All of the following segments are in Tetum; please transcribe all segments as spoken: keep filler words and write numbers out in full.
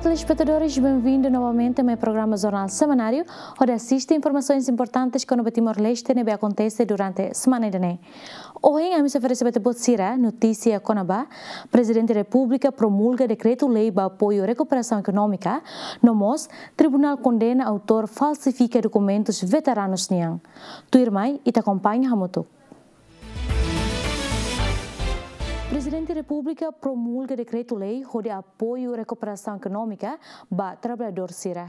Telespetadores, benvindu novamente mai programa Jornál Semanáriu, hodi asiste informasoens importantes kona-ba Timor-Leste ne'ebé akontese durante semana ida-ne'e. Ohin ami sei oferese ba ita-boot sira notísia kona-ba Prezidente Repúblika promulga dekretu-lei ba apoiu rekuperasaun ekonómika, no mós Tribunál kondena autór falsifika dokumentus veteranus nian. Tuirmai, ita akompaña hamutuk. Prezidente Repúblika promulga dekretu-lei hodi apoiu rekuperasaun ekonómika ba traballadór sira.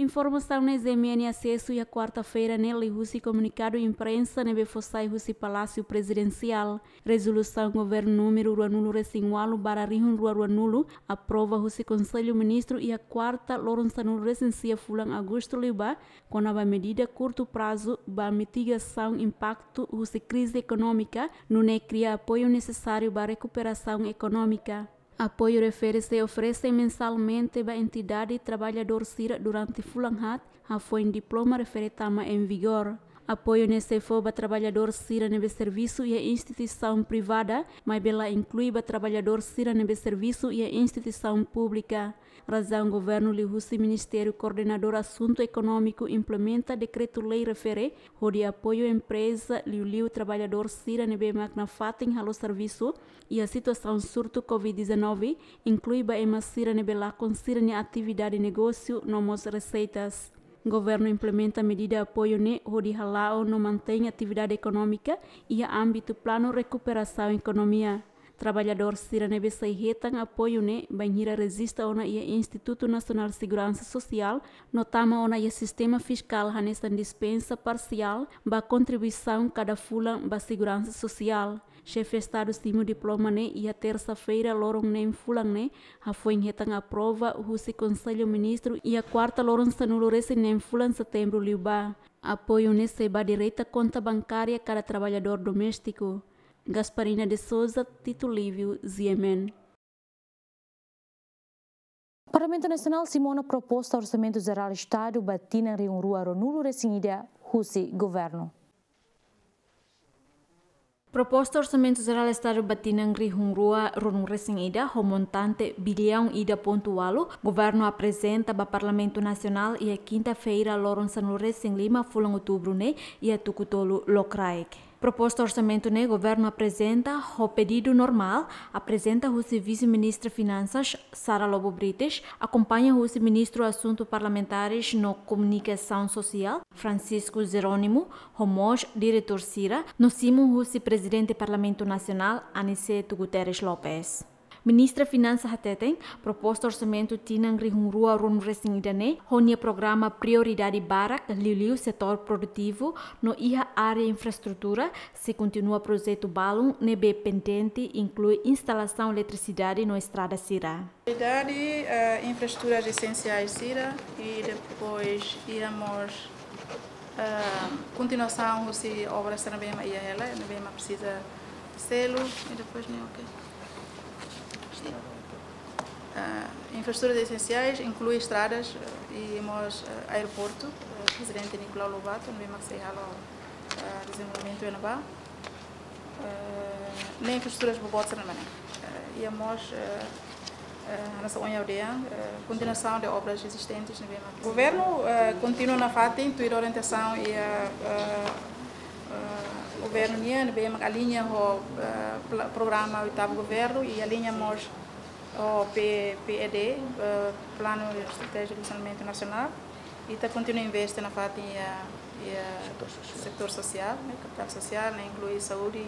Informasaun ne'e GMN asesu iha kuarta-feira ne'e liuhusi komunikadu imprensa ne'ebé fó sai husi Palásiu Prezidensiál. Rezolusaun Governu númeru ruanulu-resin-ualu barra rihun rua ruanulu aprova husi Konsellu Ministru iha kuarta loron sanulu-resin-sia fulan Agostu liubá, kona-ba medida kurtu prazu ba mitigasaun impaktu husi krize ekonómika, nune'e kria apoiu nesesáriu ba rekuperasaun ekonómika. Apoiu refere sei oferese mensalmente ba entidade traballadór sira durante fulan haat, hafoin diploma refere tama em vigor. Apoiu ne'e sei fó ba traballadór sira ne'ebé servisu iha instituisaun privada, maibé la inklui ba traballadór sira ne'ebé servisu iha instituisaun públika. Razaun Governu liuhusi Ministériu Koordenadór Asuntu Ekonómiku implementa dekretu-lei refere hodi apoiu empreza, liuliu traballadór sira ne'ebé mak nafatin halo servisu iha situasaun surtu covid dezanove, inklui ba ema sira ne'ebé lakon sira-nia atividade negósiu no mós reseitas. Governu implementa medida apoiu ne'e hodi hala'o no mantein atividade ekonómika iha ámbitu planu rekuperasaun ekonomia. Traballadór sira ne'ebé sei hetan apoiu ne'e bainhira rejista ona iha Institutu Nasionál Seguransa Sosiál no tama ona iha sistema fiskál hanesan dispensa parsiál ba kontribuisaun kada fulan ba seguransa sosiál. Xefe Estadu simu diploma ne'e iha tersa-feira loron neen fulan ne'e, hafoin hetan aprova husi Konsellu Ministru iha kuarta loron sanulu-resin-neen fulan setembru liubá. Apoiu ne'e sei ba direta konta bankária kada traballadór doméstiku. Gasparina de Souza, Tito Livio, GMN. Parlamentu Nasionál simu ona proposta Orsamentu Jerál Estadu ba tinan rihun rua ruanulu-resin-ida husi Governu. Proposta Orsamentu Jerál Estadu ba tinan rihun rua ruanulu-resin-ida ho montante biliaun ida pontu ualu, Governu aprezenta ba Parlamentu Nasionál iha kinta-feira loron sanulu-resin-lima fulan Outubru ne'e iha Tuku Tolu, Lokraik. Proposta orsamentu ne'e Governu aprezenta ho pedidu normál, aprezenta husi Vise-Ministra Finansas, Sara Lobo Brites, akompaña husi Ministru Asuntu Parlamentares no Komunikasaun Sosiál, Francisco Jerónimo, ho mós diretór sira, no simu husi Prezidente Parlamentu Nasionál, Aniceto Guterres Lopes. Ministra Finansa hateten, proposta orsamentu tinan rihun rua ruanulu-resin-ida ne'e, ho nia programa prioridade barak, liuliu setór produtivu, no iha área infraestrutura, sei kontinua projetu balun ne'ebé pendente, inklui instalasaun eletrisidade no estrada sira. Prioridade, eh, infraestruturas esensiais sira, i depois iha mós, eh, kontinuasaun husi obra sira ne'ebé mak iha hela, ne'ebé mak presiza selu, i depois ne'e, ok. Eh, infraestruturas esensiais, inklui estradas, eh, i mós, eh, aeroportu, eh, Prezidente Nicolau Lobato, ne'ebé mak sei halo, eh, dezenvolvimentu iha ne'ebá. Eh, ne'e infraestruturas boboot sira ne'ebá ne'e. Eh, iha mós, eh, eh, hanesan ohin ha'u dehan, eh, kontinuasaun de obras ezistentes ne'ebé mak. Governu, eh, kontinua nafatin tuir orientasaun iha, eh, eh, Governu nian ne'ebé mak aliña ho, eh, pla-, programa oitavu Governu i aliña mós ho P-, PED, eh, Planu Estratéjiku de Dezenvolvimentu Nasionál. Ita kontinua investe nafatin iha, iha setór sosiál. Setór sosiál, ne'e, kapitál sosiál, ne'e inklui saúde,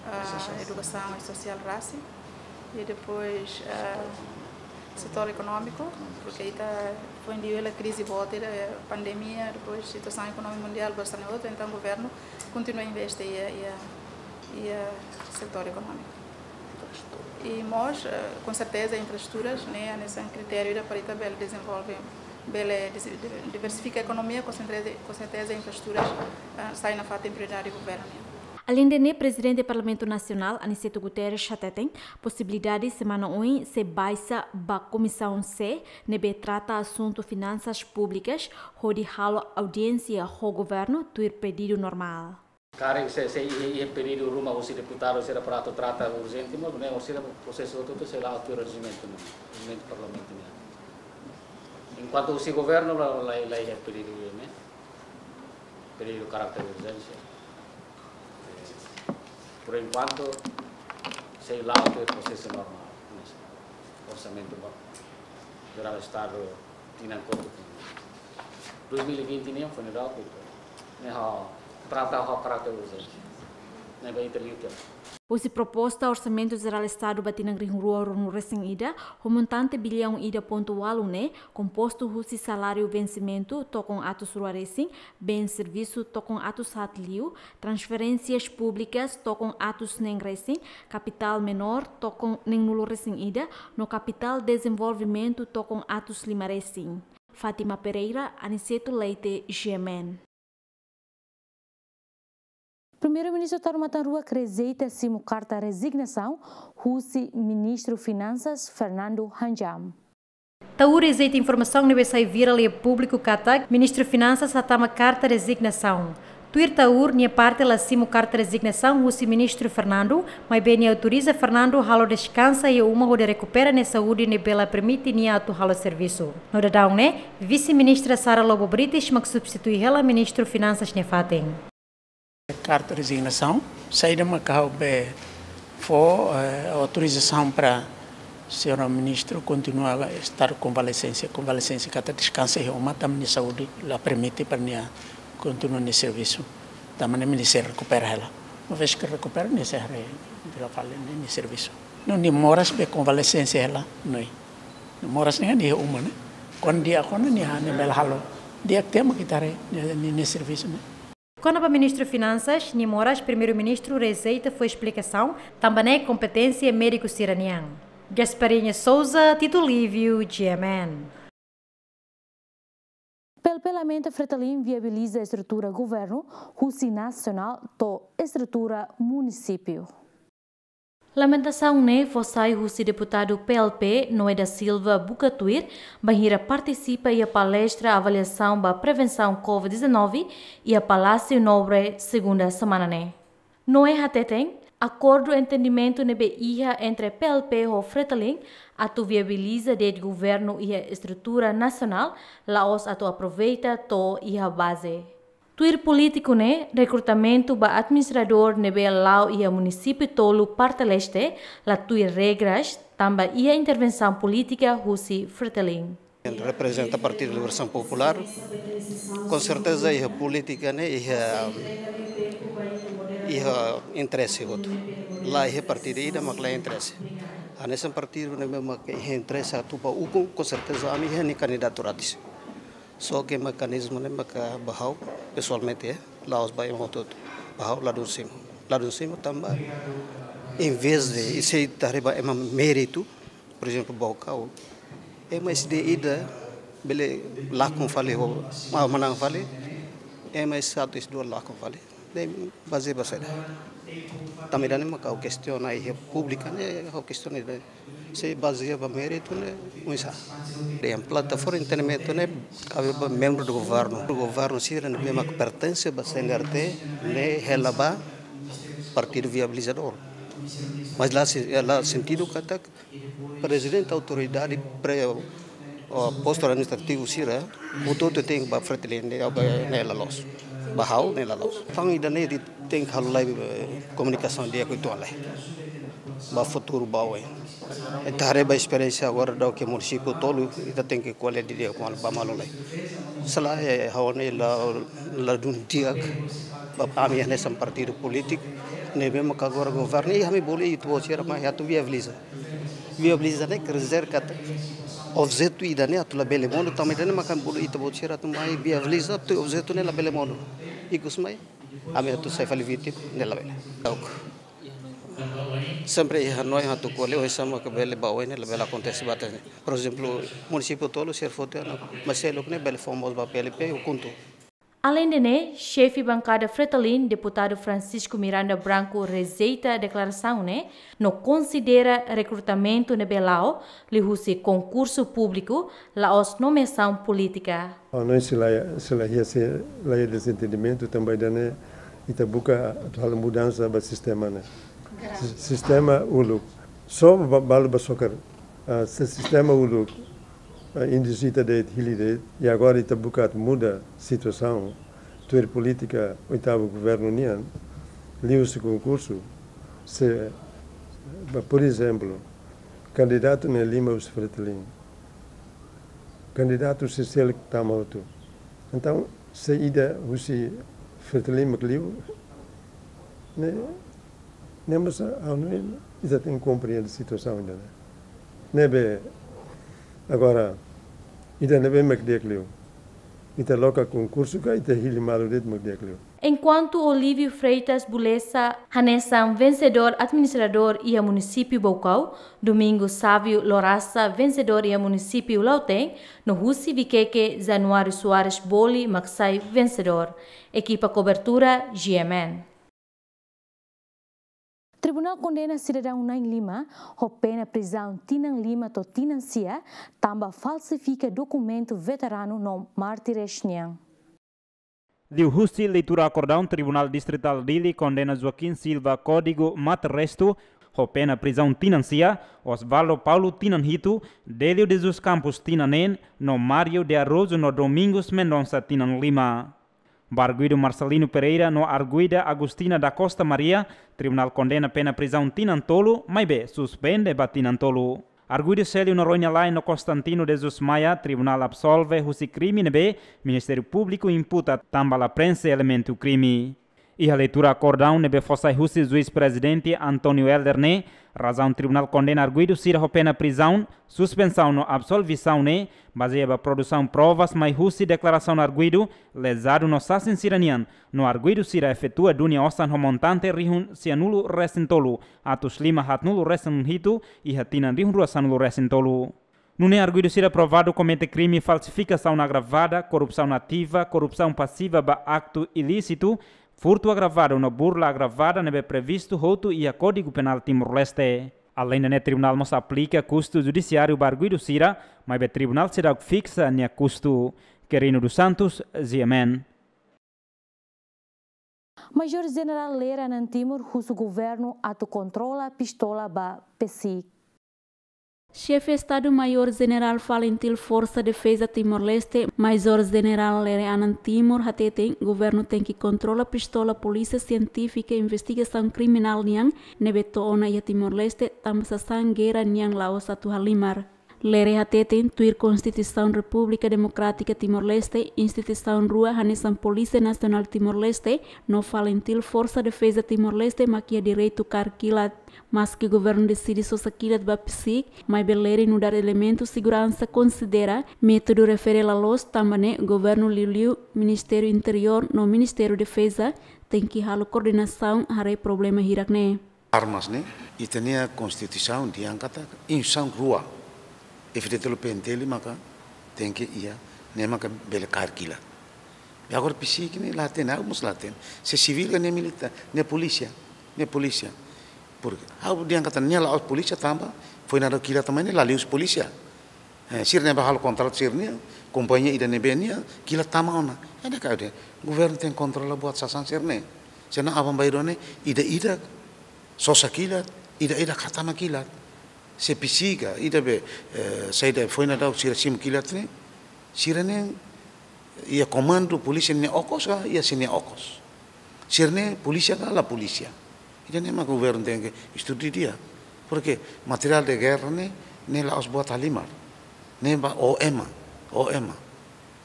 ah, edukasaun i sosiál rasik. I depois, ah, setór ekonómiku, porque ita foin hela krize boot, ita, eh, pandemia, depois situasaun ekonómika mundiál bastante outra, entaun Governu kontinua investe iha, iha, iha setór ekonómiku. I mós, eh, konserteza, infraestruturas, ne'e hanesan kritériu ida para ita bele dezenvolve, bele desi-, diver-, diversifika ekonomia, konserteza, konserteza infraestruturas, eh, sai nafatin prioridade Governu nian. Aleinde ne'e, Prezidente Parlamentu Nasionál, Aniceto Guterres, hateten, posibilidade semana oin sei baixa ba Komisaun C, ne'ebé trata asuntu finansas públikas, hodi halo audiénsia ho Governu tuir pedidu normál. Karik se, se iha, iha pedidu ruma husi deputadu sira para atu trata urjente, mas ne'e orsida prosesu hotu-hotu sei la'o tuir rejimentu ne'e, rejimentu parlamentu ne'e. Enkuantu husi governu la, la, la iha pedidu ne'e, pedidu karakter urjénsia. Por enkuantu, sei la'o tuir prosesu normál, orsamentu ba jerál Estadu tinan kotuk. Dois mil e vinte nian foin daudaun, ne'e ha'u trata ho karakter urjénsia. Ne'ebé ita liu tiha. Husi proposta Orsamentu Jerál Estadu ba tinan rihun rua ruanulu resin ida, ho montante biliaun ida pontu ualu ne'e, kompostu husi saláriu vensimentu tokon atus rua resin, bens servisu tokon atus haat liu, transferénsias públikas tokon atus neen resin, kapitál menór tokon neenulu resin ida, no kapitál dezenvolvimentu tokon atus lima resin. Fátima Pereira, Aniceto Leite, G M N. Primeiru-Ministru Taur Matan Ruak rejeita simu karta rezignasaun husi Ministru Finansas Fernando Hanjam. Taur rejeita informasaun ne'ebé sai virál iha públiku katak Ministru Finansas hatama karta rezignasaun. Tuir Taur, nia parte la simu karta rezignasaun husi Ministru Fernando, maibé nia autoriza Fernando halo deskansa iha uma hodi rekupera nia saúde ne'ebé la permite nia atu halo servisu. No daudaun ne'e, Vise-Ministra Sara Lobo Brites mak substitui hela Ministru Finansas nia fatin. Karta rezignasaun, saida maka ha'u be fó, eh, autorizasaun para señora ministru kontinua estar konvalesente, konvalesente katak deskansa iha uma, tanba nia saúde la permite para nia kontinua nia servisu. Tanba ne'e nia sei rekupera hela. Uma vez ke rekupera, nia sei haree fila fali nia, nia servisu. No nia moras be konvalesente hela, no. Nia moras ne'e iha uma ne'e. Kuandu di'ak ona nia, nia bele halo. Di'ak tiha mak ita haree nia, nia, nia servisu ne'e. Kona-ba Ministru Finansas, nia moras Primeiru-Ministru rejeita fó esplikasaun, tanba ne'e kompeténsia médiku sira-nian. Gasparinha Souza, Tito Lívio, G M N. P L P lamenta Fretilin viabiliza estrutura governu husi nasionál to'o estrutura munisípiu. Lamentasaun ne'e fó sai husi deputadu P L P, Noé da Silva, buka tuir, bainhira partisipa iha palestra avaliasaun ba prevensaun covid dezanove iha Palásiu Nobre, segunda semana ne'e. Noé hateten, akordu entendimentu ne'ebé iha entre P L P ho Fretilin atu viabiliza de'it governu iha estrutura nasionál la'ós atu aproveita to'o iha baze. Tuir polítiku ne'e, rekrutamentu ba administradór ne'ebé la'o iha munisípiu tolu parte leste la tuir regras, tanba iha intervensaun polítika husi Fretilin. Reprezenta Partidu Libertasaun Populár, konserteza iha polítika ne'e iha, iha interese hotu. La iha partidu ida mak la interese. Hanesan partidu ne'ebé mak iha interese atu ba ukun, konserteza ami iha nia kandidatu ratis. Só ke mekanizmu ne'e maka ba ha'u pesoalmente, eh, la'ós ba ema hotu-hotu. Ba ha'u ladún simu. Ladún simu tanba, em vez de, i se ita haree ba ema méritu, por ezemplu, Baucau, ema S D ida bele lakon fali ho, ma-, manán fali, ema S satu, S dua lakon fali. Ne'e bazeia ba saida? Tanba ida-ne'e maka ha'u kestiona iha públiku ne'e, ha'u kestiona ida-ne'e. Se bazeia ba méritu ne'e, oinsá? Dehan plataforma entendimentu ne'e kabe ba membru do governu. Governu sira ne'ebé mak pertense ba C N R T ne'e hela ba partidu viabilizadór. Mas la se-, la sentidu katak prezidente autoridade pre-, o, postu administrativu sira, hotu-hotu tenke ba Fretilin, ne'e, ba, ne'e la loos. Ba ha'u ne'e la loos. Tan ida-ne'e ita tenke halo lai, eh, komunikasaun di'ak uitoan lai. Ba futuru ba oin. Ita haree ba esperiénsia agora daudaun ke munisípiu tolu, ita tenke ko'alia didi'ak ba malu lai. Se lae, eh, ha'u ne'e la, ladún di'ak, ba ami hanesan partidu polítiku, ne'ebé maka agora governu, i ami bolu ita-boot sira mai atu viabiliza. Viabiliza ne'e quer dizer katak objetu ida-ne'e atu labele monu, tanba ida-ne'e maka bolu ita-boot sira atu mai viabiliza, atu objetu ne'e labele monu. Ikus mai, ami atu sai fali vítima, ne'e labele. Sempre iha hanoin atu ko'alia, oinsá mak bele ba oin ne'e labele akontese ba tene. Por ezemplu, munisípiu tolu sira foti ona, mas seluk ne'e bele fó mós ba P L P, o kuntu. Aleinde ne'e, xefe bankada Fretilin, deputadu Francisco Miranda Branco rejeita deklarasaun ne'e, no konsidera rekrutamentu ne'ebé la'o liuhusi konkursu públiku, la'ós nomeasaun polítika. Hanoin sei la, sei la iha, sei la iha dezentendimentu, tanba ida-ne'e, Ita buka atu halo mudansa ba sistema ne'e. Sis-, sistema uluk. Só ba-, balu ba sokar, ah, se sistema uluk, ah, induzita de'it, hili de'it, i agora ita buka atu muda situasaun, tuir polítika oitavu governu nian, liuhusi konkursu, se, ba, por ezemplu, kandidatu ne'e lima husi Fretilin. Kandidatu sira seluk tama hotu. Entaun, se ida husi Fretilin mak liu, ne'e, ne'e mós ha'u hanoin ita tenke komprende situasaun ida-ne'e. Ne'ebé, agora, ida ne'ebé mak di'ak liu. Ita loke konkursu ka ita hili malu de'it mak di'ak liu. Enkuantu Olívio Freitas Beleça hanesan vensedór administradór iha munisípiu Baucau, Domingos Sávio Lorasa vensedór iha munisípiu Lautém, no husi Viqueque Januário Soares Boli mak sai vensedór. Ekipa kobertura, G M N. Tribunál kondena sidadaun na'in lima ho pena prizaun tinan lima to'o tinan sia, tanba falsifika dokumentu veteranu no mártires nian. Liuhusi leitura akordaun, Tribunál Distritál Dili kondena Joaquim Silva Código Mártir Restu ho pena prizaun tinan sia, Osvaldo Paulo tinan hitu, Délio de Jesus Campos tinan neen, no Mário de Araújo no Domingos Mendonça tinan lima. Ba arguidu Marcelino Pereira no arguida Agostina da Costa Maria, tribunál kondena pena prizaun tinan tolu, maibé suspende ba tinan tolu. Arguidu Célio Noronha Lae no Constantino de Jesus Maia, tribunál absolve husi krime ne'ebé Ministériu Públiku imputa tanba la prenxe elementu krime. Iha leitura akordaun ne'ebé fó sai husi Juís Prezidente António Helder ne'e, razaun tribunál kondena arguidu sira ho pena prizaun, suspensaun no absolvisaun ne'e bazeia ba produsaun provas mai husi deklarasaun arguidu, lezadu no sasin sira-nian, no arguidu sira efetua dunia osan ho montante rihun sianulu resin tolu, atus lima haatnulu resin hitu, iha tinan rihun rua sanulu resin tolu. Nune'e arguidu sira provadu komete krime falsifikasaun agravada, korrupsaun ativa, korrupsaun pasiva ba aktu ilísitu, furtu agravadu no burla agravada ne'ebé previstu hotu iha Kódigu Penál Timor-Leste. Aleinde ne'e, tribunál mós aplika kustu judisiáriu ba arguidu sira, maibé tribunál seidauk fiksa nia kustu. Querino dos Santos, G M N. Majór Jenerál Lere Anan Timur husu governu atu kontrola pistola ba PCIC. Xefe Estadu Majór Jenerál Falintil Forsa Defeza Timor-Leste, Majór Jenerál Lere Anan Timur hateten, governu tenke kontrola pistola Polísia Sientífika Investigasaun Kriminál nian ne'ebé to'o ona iha Timor-Leste, tanba sasán gera nian la'ós atu halimar. Lere hateten, tuir Konstituisaun Repúblika Demokrátika Timor-Leste, instituisaun rua hanesan Polísia Nasionál Timor-Leste no Falintil Forsa Defeza Timor-Leste mak iha direitu kaer kilat. Maski governu deside sosa kilat ba PCIC, maibé Lere nu'udar elementu seguransa konsidera métodu refere la loos, tanba ne'e governu, liuliu Ministériu Interiór no Ministériu Defeza, tenke halo koordenasaun haree problema hirak ne'e. Armas ne'e, ita-nia Konstituisaun dehan katak instituisaun rua, F-FDTL, P-FDTL maka tenke iha, ne'e maka bele kaer kilat. I agora PCIC ne'e la hatene, ha'u mós la hatene. Se sivíl ka ne'e militár, ne'e polísia, ne'e polísia. Porke ha'u dehan katak nia la'ós polísia tanba foin daudaun kilat tama ne'e la liuhusi polísia. Eh, sira ne'ebé halo kontratu sira-nia, kompañia ida ne'ebé nia kilat tama ona. Ida katak governu tenke kontrola buat sasán sira-ne'e. Senão aban-bainrua ne'e, ida-idak sosa kilat, ida-idak hatama kilat. Se PCIC ka, ida be, eh, saida foin daudaun sira simu kilat ne'e, sira-ne'e iha komandu polísia nia okos ka, iha sira-nia okos. Sira-ne'e polísia ka la polísia. Ida-ne'e mak governu tenke estuda didi'ak. Porke materiál de guerra ne'e, ne'e la'ós buat halimar. Ne'e ba ó ema, ó ema.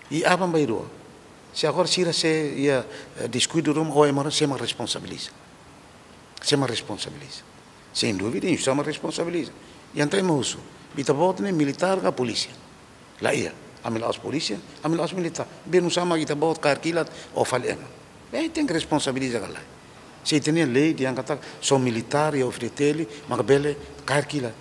I aban-bainrua, se agora sira sei iha, eh, deskuidu ruma, ó ema ruma, sé mak responsabiliza? Sé mak responsabiliza? Sem dúvida, instituisaun mak responsabiliza. I entaun ema husu, ita-boot ne'e militár ka polísia? La iha. Ami la'ós polísia, ami la'ós militár. Be nusá mak ita-boot kaer kilat ou fali ema? Be tenke responsabiliza ka lae? Se ita-nia lei dehan katak só militár iha F-FDTL maka bele kaer kilat.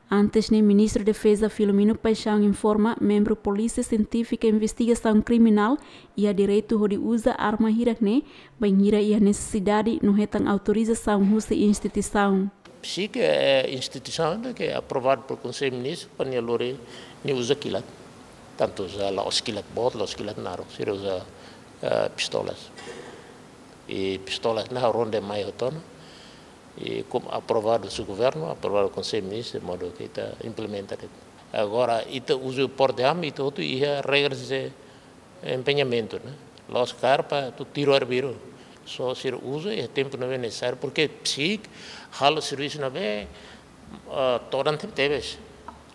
Antes ne'e, Ministru Defeza Filomeno Paixão informa, membru Polísia Sientífika Investigasaun Kriminál iha direitu hodi uza arma hirak ne'e, bainhira iha nesesidade no hetan autorizasaun husi instituisaun. PCIC, eh, instituisaun ida ke aprovadu por Konsellu Ministru para nia lori, nia uza kilat. Tantu uza la'ós kilat boot, la'ós kilat naruk, sira uza, eh, pistolas. I pistola ne'e ha'u ronde mai hotu ona. I komu aprovadu husi governu, aprovadu Konsellu Ministru, modo ke ita implementa de'it. Agora, ita uza porte arma, ita hotu iha regras de empenhamentu, ne'e. La'ós kaer para atu tiru arbiru. Só sira uza iha tempu ne'ebé nesesáriu, porque psík halo servisu ne'ebé, ah, todan tebetebes.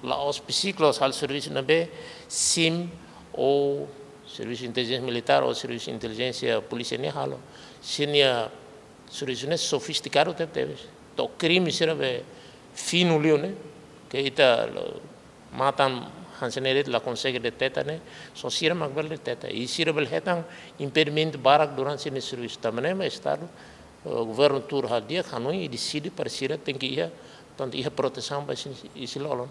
La'ós psík la'ós halo servisu ne'ebé sim ou servisu intelijénsia militár ou servisu intelijénsia polísia ne'e halo. Sira-nia servisu ne'e sofistikadu tebetebes. To'o krime sira be finu liu ne'e, ke ita lo matan hanesan ne'e de'it la konsege deteta ne'e, só sira mak bele deteta. I sira bele hetan impedimentu barak durante sira-nia servisu. Tanba ne'e mak Estadu, eh, governu tuur hadi'a hanoin i deside para sira tenke iha, tantu iha protesaun ba isin, isin lolon.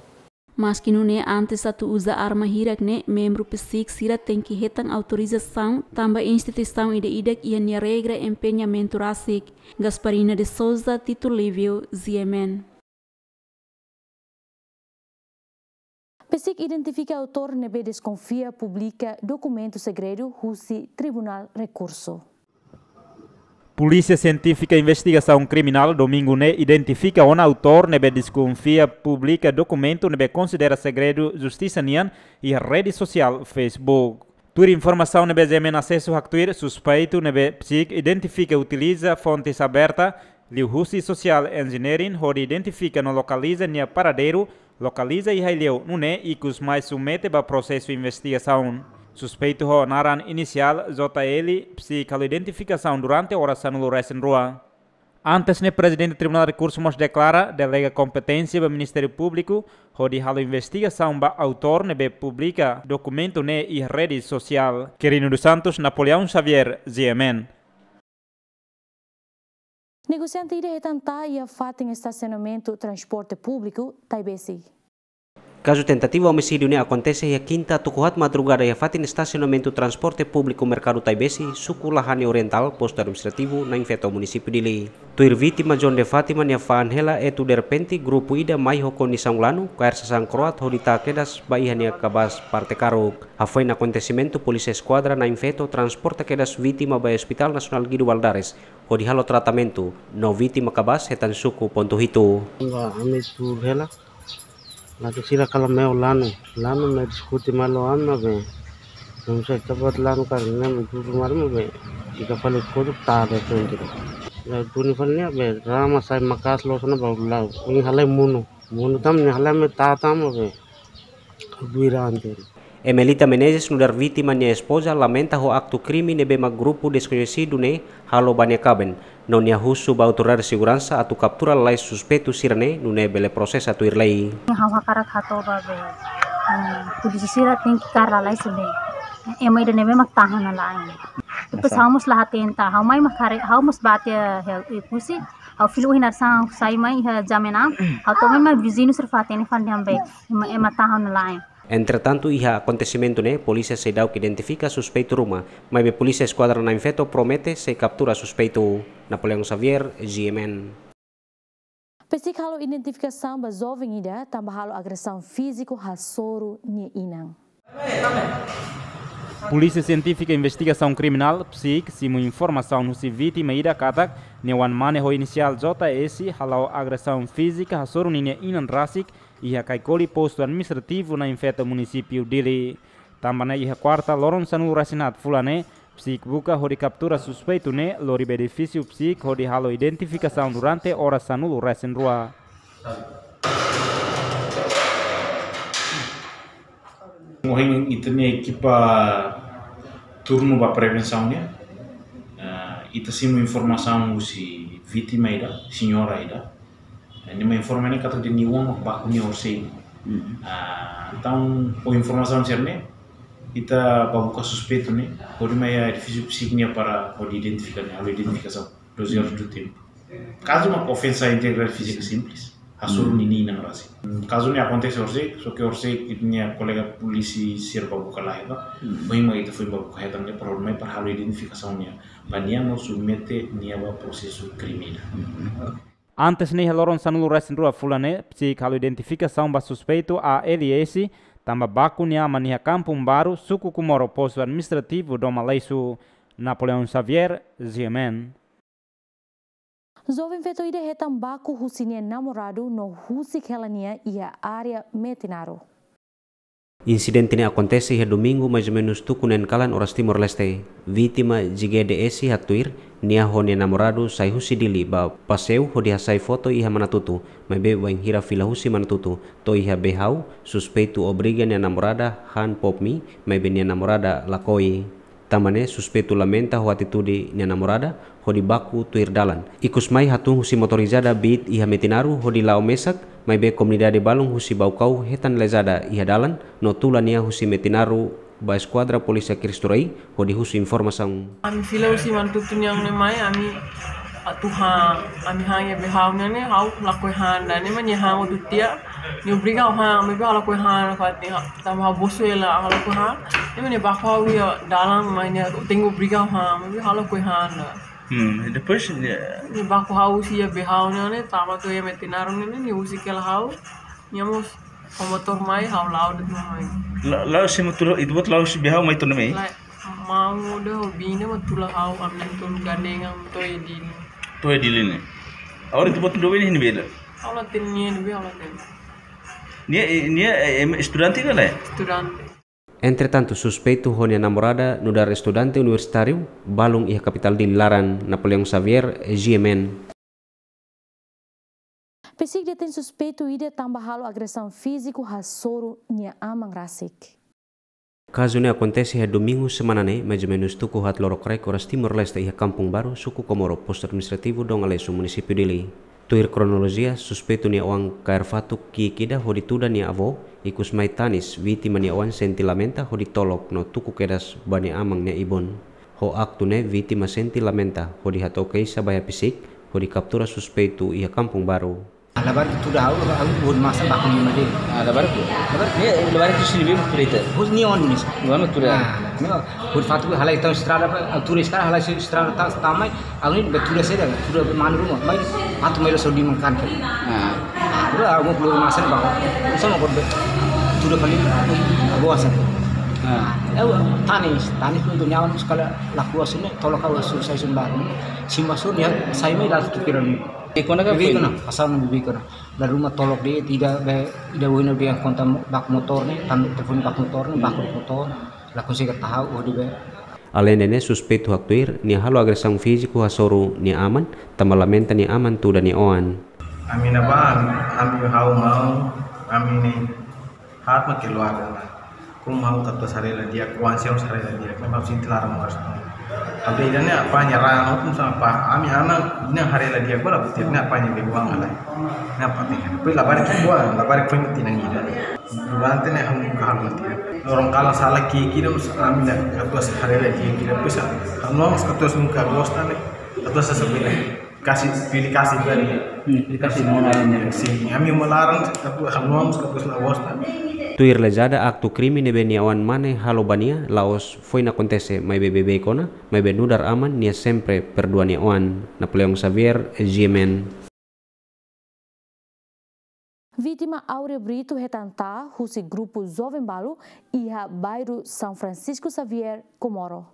Maski nune'e, antes atu uza arma hirak ne'e, membru psík sira tenke hetan autorizasaun tanba instituisaun ida-idak iha nia regra empenhamentu rasik. Gasparina de Souza, Tito Livio, G M N. Psík identifika autór ne'ebé deskonfia publika dokumentu segredu husi Tribunál Rekursu. Polísia Sientífika Investigasaun Kriminál, domingu ne'e, identifika ona autór ne'ebé deskonfia publika dokumentu ne'ebé konsidera segredu justisa nian iha rede sosiál Facebook. Tuir informasaun ne'ebé G M N asesu haktuir, suspeitu ne'ebé psík identifika utiliza fontes abertas liuhusi social engineering hodi identifika no lokaliza nia paradeiru, lokaliza i haileu, nune'e ikus mai submete ba prosesu investigasaun. Suspeitu ho naran inisiál J L, psík halo identifikasaun durante oras sanulu-resin-rua. Antes ne'e, Prezidente Tribunál Rekursu mós deklara delega kompeténsia ba Ministériu Públiku hodi halo investigasaun ba autór ne'ebé publika dokumentu ne'e iha rede sosiál. Quirino dos Santos, Napoleão Xavier, G M N. Negosiante ida hetan tahan iha fatin estasionamentu transporte públiku Taibesi. Kazu tentativa omisídiu ne'e akontese iha kinta tuku haat madrugada iha fatin estasionamentu transporte públiku Merkadu Taibesi, suku Lahane Orientál, postu administrativu Nain Feto, munisípiu Dili. Tuir vítima John de Fátima nia fa'an hela, etu derrepente grupu ida mai ho kondisaun lanu, kaer sasán kro'at hodi tah kedas ba iha nia kabaas parte karuk. Hafoin akontesimentu, Polísia Eskuadra Nain Feto transporta kedas vítima ba Hospitál Nasionál Guido Valadares hodi halo tratamentu, no vítima kabaas hetan suku pontu hitu. Ba ami tuur hela, lalu sira kalan mai ho lanu, lanu mai diskute malu ami be. Não sei, tabat lanu karik ne'e mai tuur malu be. Sira fali koduk tada tuntun. Lalu tuni fali ne'e be, rama sai maka'as loos ona baru lau. Ini halai monu. Monu tan ne'e halai mai tata ami be. Duirante. Emelita Menezes, nu'udar vítima nia espoza, lamenta ho aktu krime ne'ebé mak grupu deskoñesidu ne'e halo ba nia kaben. No nia husu ba autoridade seguransa atu kaptura lalais suspeitu sira-ne'e, nune'e bele prosesa tuir lei. Ha'u hakarak hato'o ba be, eh, polísia sira tenke kaer lalais be. Ema ida ne'ebé mak tahan ona la'en. Depois ha'u mós la hatenta, ha'u mai mak haree, ha'u mós bá tiha, eh, husi, ha'u fila ohin hanesan sai mai iha jam enam, ha'u to'o mai mak viziñu sira fó-hatene fali dehan be, ema, ema tahan ona la'en. Entretantu, iha akontesimentu ne'e, polísia seidauk identifika suspeitu ruma, maibé Polísia Eskuadra Nain Feto promete sei kaptura suspeitu. Napoleão Xavier, G M N. Psík halo identifikasaun ba joven ida tanba halo agresaun fíziku hasoru nia inan. Polísia Sientífika Investigasaun Kriminál, psík, simu informasaun husi vítima ida katak nia oan-mane ho inisiál J S hala'o agresaun fízika hasoru ninia inan rasik iha Kaikoli, postu administrativu Nain Feto, munisípiu Dili. Tanba ne'e iha kuarta loron sanulu-resin-haat fulan ne'e, psík buka hodi kaptura suspeitu ne'e lori ba edifísiu psík hodi halo identifikasaun durante oras sanulu-resin-rua. Ohin ita-nia ekipa turnu ba prevensaun nian, eh, ita simu informasaun husi vítima ida, señora ida. Eh, nia mai informa ne'e katak nia oan baku nia horisehik. Hmm. Ah, entaun, ho informasaun sira-ne'e, ita bá buka suspeitu ne'e, hodi mai iha edifísiu psík nian para hodi identifika nia, halo identifikasaun, doze horas do tempo. Kazu mak ofensa integridade fízika simples, hasoru ninia inan rasik. Kazu ne'e akontese horisehik, só ke horisehik ita-nia kolega polísia sira bá buka la hetan. Hmm. Ohin mak ita foin bá buka hetan ne'e para hodi mai para halo identifikasaun nian, ba nia no submete nia ba prosesu kriminál. Hmm. Antes ne'e, iha loron sanulu-resin-rua fulan ne'e, psík halo identifikasaun ba suspeitu A L S, tanba baku nia aman iha Kampung Baru, suku Comoro, postu administrativu Doma Leiso. Napoleão Xavier, G M N. Joven feto ida hetan baku husi nia namoradu no husik hela nia iha área Metinaro. Insidente ne'e akontese iha Domingu, mais ou menus tuku neen kalan oras Timor-Leste. Vítima J G D S haktuir, nia ho nia namoradu sai husi Dili ba paseiu hodi hasai foto iha Manatutu, maibé bainhira fila husi Manatutu to'o iha Behau, suspeitu obriga nia namorada han pop mie, maibé nia namorada lakohi. Tanba ne'e suspeitu lamenta ho atitude nia namorada hodi baku tuir dalan. Ikus mai hatún husi motorizada biit iha Metinaro hodi la'o mesak, maibé komunidade balun husi Baucau hetan lezada iha dalan no tula nia husi Metinaro ba Eskuadra Polísia Cristo Rei hodi husu informasaun. Ami fila husi Manatutu nian ne'e mai, ami atu han, ami han iha Behau nian ne'e, ha'u lakohi han, ida-ne'e mak nia han hotu tiha, nia obriga ha'u han, maibé ha'u lakohi han, fatin tanba ha'u bosu hela, ha'u lakohi han. Nia mak nia baku ha'u iha dalan, mai nia tenke obriga ha'u han, maibé ha'u lakohi han. Hmm, e depois nia, nia baku ha'u husi iha Behau nian ne'e, tama to'o iha Metinaro nian ne'e, nia husik hela ha'u. Nia mós ho motór mai, ha'u la'o de'it mai. La, la, se motór, ita-boot la'o husi Behau mai to'o ne'e mai? La, maun ida ho biin ida mak tula ha'u, ami na'in-tolu gandengan to'o iha Dili. To'o iha Dili ne'e. Agora ita-boot doben iha ne'ebé? Ha'u la hatene nia iha ne'ebé, ha'u la hatene. Nia, nia, eh, em, estudante ka lae? Estudante. Entretantu, suspeitu ho nia namorada nu'udar estudante universitáriu balun iha kapitál Dili laran. Napoleão Xavier, G M N. PCIC detein suspeitu ida tanba halo agresaun fíziku hasoru nia aman rasik. Kazu ne'e akontese iha Domingu semana ne'e, mais ou menus tuku haat lorokraik oras Timor-Leste iha Kampung Baru, suku Komoro, Postu Administrativu Dom Aleixo, Munisípiu Dili. Tuir kronolojia, suspeitu nia oan kaer fatuk ki'ik ida hodi tuda nia avó, ikus mai tanis, vítima nia oan sente lamenta hodi tolok no tuku kedas ba nia aman nia ibun. Ho aktu ne'e vítima sente lamenta hodi hato'o keixa ba iha PCIC, hodi kaptura suspeitu iha Kampung Baru. Labarik tuda ha'u, ha'u hodi masa baku nia made. Ah, labarik tu. Labarik. Nia, labarik tu sini bim kurita. Hodi nia oan nis. Nia oan tuda. Ah, nia hodi fatuk halai tau estrada, altura estrada halai estrada ta, tamai. Agora ne'e tuda saida, tuda manu ruma, mai, atu mai la sodi makan ke. Ah. Ah, tuda, ha'u mós lori masan ba. Sama kode, tuda kali, boa sa. Ah. Eu, tanis, tanis pun tu nyawa sekali laku asune, tolok ha'u susah sumbar. Simba sun ya, sai mai la tu kira ni. Bebé kona, pasal na bebé kona. La ruma tolok de'it, ida be, ida wina be konta mo-, baku motór ne'e, tan telefone baku motór ne'e, baku motór. La konsege tahu, oh, di be. Aleinde ne'e, suspeitu haktuir nia halo agresaun fíziku hasoru nia aman, tanba lamenta nia aman tuda nia oan. Ami ne'ebá, ami ha'u maun, ami ne'e haat mak keluar ona. Komu ha'u katuas haree la di'ak, oan sira mós haree la di'ak, ne'e ha'u sente laran moras. Tapi ida-ne'e apá nia raan, komu sa apá, ami anak, ne'e haree la di'ak, bora butir, ne'e apá nia be uang halai. Ne'e apá nia. Depois labarik ki'ik, labarik foin tinan ida. Durante ne'e ha'u nunka halo tiha. Loron kalan sala ki'ik ida mós ami la katuas haree la di'ak ida. Depois ha'u mós katuas nunka gosta ne'e. Katuas sasabila. Kasi, pilih kasi tadi. Hmm, pilih kasi mau lain ya. Sin, ami uma laran, katuas ha'u mós katuas la gosta. Tuir lezada aktu krime ne'ebé nia oan mane halo ba nia, la'ós foin akontese maibé beibeik ona, maibé nu'udar aman nia sempre perdua nia oan. Napoleão Xavier, G M N. Vítima Áurea Brito hetan taa husi grupu joven balu iha bairru São Francisco Xavier, Comoro.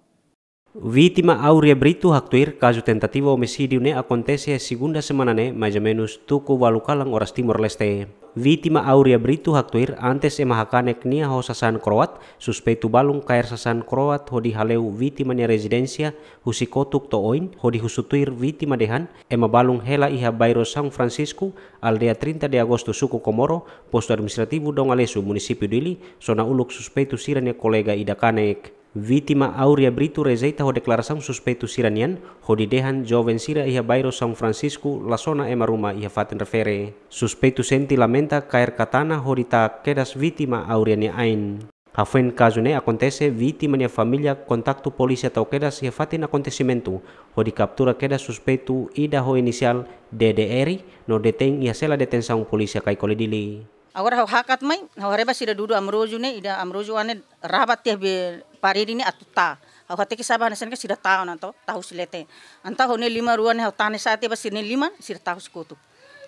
Vítima Áurea Brito haktuir kazu tentativa omisídiu ne'e akontese iha segunda semana ne'e, mais ou menus tuku ualu kalan oras Timor-Leste. Vítima Áurea Brito haktuir antes ema hakanek nia ho sasán kroat, suspeitu balun kaer sasán kroat hodi haleu vítima nia rezidénsia husi kotuk to'o oin, hodi husu tuir vítima dehan, ema balun hela iha bairru São Francisco, aldeia trinta de Agosto, suku Comoro, Postu Administrativu Dom Aleixo, Munisípiu Dili, sona uluk suspeitu sira-nia kolega ida kanek. Vítima Áurea Brito rejeita ho deklarasaun suspeitu sira-nian, hodi dehan joven sira iha bairru São Francisco la sona ema ruma iha fatin refere. Suspeitu sente lamenta kaer katana hodi taa kedas vítima Áurea nia ain. Hafoin kazu ne'e akontese, vítima nia família kontaktu polísia tau kedas iha fatin akontesimentu, hodi kaptura kedas suspeitu ida ho inisiál D D R, no detein iha sela detensaun polísia Caicoli Dili. Agora ha'u hakat mai, ha'u haree ba sira dudu Amroju ne'e, ida Amroju oan ne'e rabat tiha be parede ne'e atu taa. Ha'u hateke sa'e ba hanesan ne'e sira taa ona to, taa husi leten. Entaun ha'u-nia liman rua ne'e ha'u tane sa'e tiha ba sira-nia liman, sira taa husi kotuk.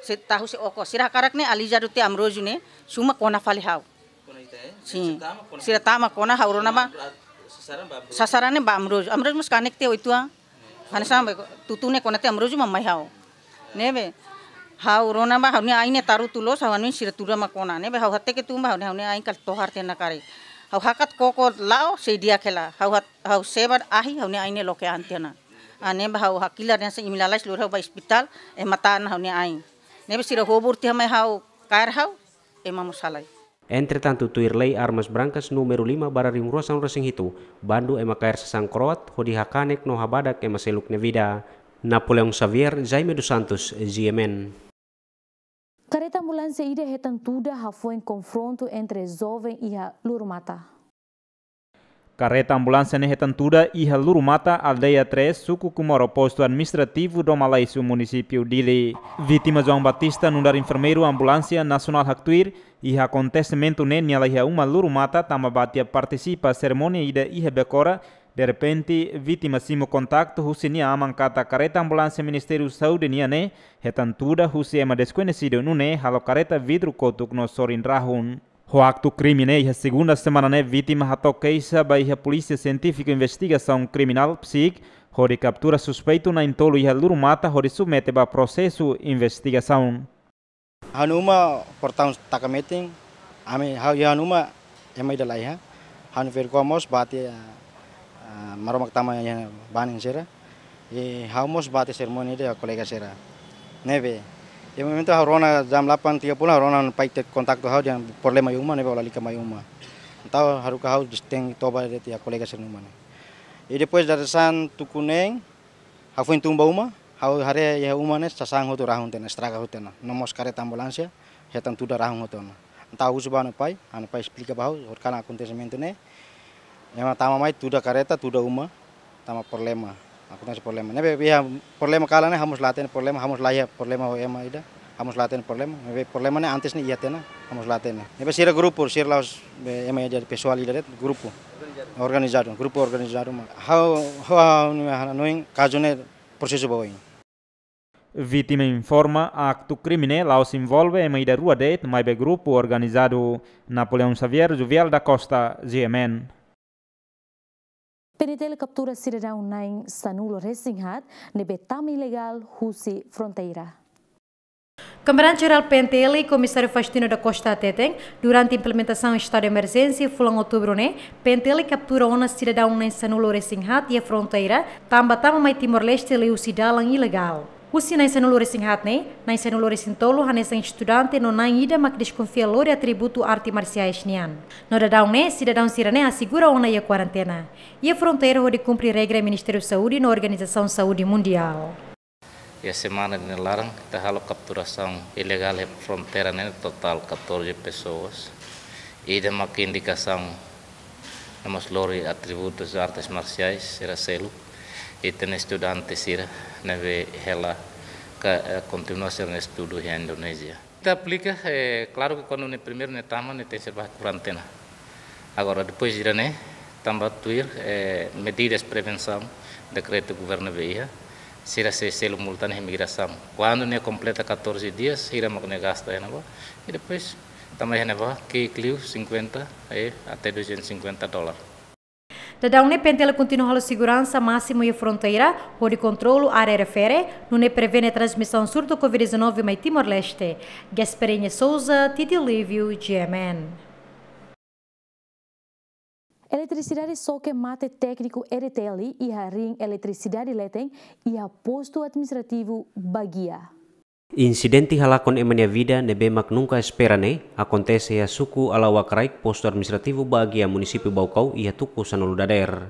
Sira taa husi okos. Sira hakarak ne'e alizadu tiha Amroju ne'e, suma kona fali ha'u. Kona ita, eh? Sin. Sira taa mak kona. Sira taa mak kona, ha'u rona ba. Kona, ah, Sasaran ne'e ba Ambrósio. Ambrósio mós kanek tiha oituan. Hanesan ba tutu ne'e kona tiha Ambrósio mak mai ha'u. Ne'ebé ha'u rona ba ha'u-nia ain ne'e tarutu loos, ha'u hanoin sira tuda mak kona. Ne'ebé ha'u hateke tun ba ha'u-nia, ha'u-nia ain kala tohar tiha ona karik. Ha'u hakat koko la'o sei di'ak hela. Ha'u hat-, ha'u sebar ahi ha'u-nia ain ne'e loke an tiha ona. Ah, ne'ebé ha'u hakilar hanesan imi lalais lori ha'u ba ospitál, ema tana ha'u-nia ain. Ne'ebé sira hobur tiha mai ha'u, kaer ha'u, ema mós halai. Entretantu, tuir Lei Armas Brancas númeru lima barra rihun rua sanulu resin hitu, bandu ema kaer sasán kroat hodi hakanek no habadak ema seluk nia vida. Napoleão Xavier, Jaime dos Santos, G M N. Kareta ambulánsia ida hetan tuda hafoin konfrontu entre joven iha Lurumata. Kareta ambulánsia ne'e hetan tuda iha Lurumata, aldeia três, suku Comoro, postu administrativu Domalaisu, munisípiu Dili. Vítima João Batista, nu'udar enfermeiru ambulánsia nasionál, haktuir iha akontesimentu ne'e nia la iha uma Lurumata tanba bá tiha partisipa serimónia ida iha Becora. Derrepente, vítima simu kontaktu husi nia aman katak kareta ambulánsia Ministériu Saúde nian ne'e hetan tuda husi ema deskoñesidu, nune'e halo kareta vidru kotuk no sorin rahun. Ho aktu krime ne'e, iha segunda semana ne'e, vítima hato'o keixa ba iha Polísia Sientífiku Investigasaun Kriminál, PSIK, hodi kaptura suspeitu na'in-tolu iha Lurumata hodi submete ba prosesu investigasaun. Ha'u-nia uma portaun taka metin, ami ha'u iha ha'u-nia uma ema ida la iha. Ha'u-nia ferik-oan mós bá tiha, ah, Maromak tama iha banin sira. I ha'u mós bá tiha serimónia ida kolega sira. Ne'ebé iha momentu ha'u rona jam delapan tiga puluh, ha'u rona pai tiha kontaktu ha'u dehan problema iha uma, ne'ebé lalika mai uma. Entaun haruka ha'u disteng toba de'it iha kolega sira-nia uma ne'e. I depois dadeer-saan tuku neen, ha'u foin tun ba uma, ha'u haree iha uma ne'e sasán hotu rahun tiha ona, estraga hotu tiha ona. No mós kareta ambulánsia hetan tuda rahun hotu tiha ona. Entaun ha'u husu ba ha'u-nia pai, ha'u-nia pai esplika ba ha'u, horikalan akontesimentu ne'e. Ema tama mai tuda kareta, tuda uma, tama problema. Akontese problema. Ne'ebé iha problema kalan ne'e ha'u mós la hatene problema, ha'u mós la iha problema ho ema ida. Ha'u mós la hatene problema. Ne'ebé problema ne'e antes ne'e iha tiha ona, ha'u mós la hatene. Ne'ebé sira grupu, sira la'ós be ema ida pesoál ida de'it, grupu. Organizadu, grupu organizadu mak. Ha'u, ha'u, ha'u-nia hanoin kazu ne'e prosesu ba oin. Vítima informa, aktu krime ne'e la'ós envolve ema ida rua de'it, maibé grupu organizadu. Napoleão Xavier, Juvial da Costa, G M N. P N T L kaptura sidadaun na'in sanulu resin haat ne'ebé tama ilegál husi fronteira. Komandante Jerál P N T L, Komisáriu Faustino da Costa hateten, durante implementasaun estadu de emerjénsia fulan Outubru ne'e, P N T L kaptura ona sidadaun na'in sanulu resin haat iha fronteira, tanba tama mai Timor-Leste liuhusi dalan ilegál. Husi na'in sanulu resin haat ne'e, na'in sanulu resin tolu hanesan estudante no na'in ida mak deskonfia lori atributu arte marsiais nian. No daudaun ne'e, sidadaun sira-ne'e asegura ona iha kuarentena iha fronteira hodi kumpre regra Ministériu Saúde no Organizasaun Saúde Mundiál. Iha semana ida nia laran, ita halo kapturasaun ilegál iha fronteira ne'e totál catorze pessoas. Ida mak indikasaun no mós lori atributus artes marsiais sira seluk. Ita-nia estudante sira ne'ebé hela ka, eh, kontinua sira-nia estudu iha Indonézia. Ita aplika, eh, klaru ke kuandu ne'e primeiru ne'e tama, ne'e tenke ser ba kuarentena. Agora, depois ida-ne'e, tanba tuir, eh, medidas prevensaun, dekretu governu ne'ebé iha, sira sei selu multa iha imigrasaun. Kuandu ne'e kompleta catorze dias, sira mak ne'e gasta iha ne'ebá. I depois, tama iha ne'ebá, ki'ik liu cinquenta, eh, até duzentos e cinquenta dólar. Daudaun ne'e P N T L kontinua halo seguransa másimu iha fronteira, hodi kontrolu área refere, nune'e prevene transmisaun surtu covid dezanove mai Timor-Leste. Gasparinha Souza, Titi Lívio, G M N. Eletrisidade xoke mate tékniku E D T L iha ring eletrisidade leten iha postu administrativu Baguia. Insidente halakon ema nia vida ne'ebé mak nunka espera ne'e akontese iha suku Alauak Raik, postu administrativu Baguia, munisípiu Baucau, iha tuku sanulu dadeer.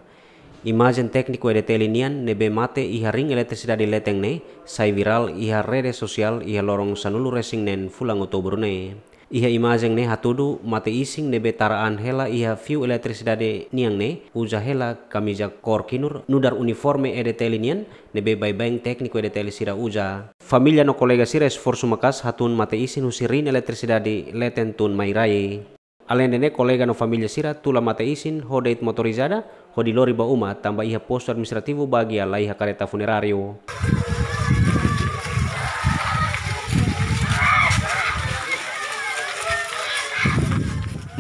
Imajen tékniku E D T L nian ne'ebé mate iha ring eletrisidade leten ne'e sai virál iha rede sosiál iha loron sanulu resin neen fulan Outubru ne'e. Iha imajen ne'e hatudu mate-isin ne'ebé tara an hela iha fiu eletrisidade nian ne'e uza hela kamiza kór kinur nu'udar uniforme E D T L nian ne'ebé baibain tékniku E D T L sira uza. Família no kolega sira esforsu maka'as hatun mate-isin husi ring eletrisidade leten tun mai rai. Aleinde ne'e, kolega no família sira tula mate-isin ho de'it motorizada hodi lori ba uma, tanba iha postu administrativu Baguia la iha kareta funeráriu.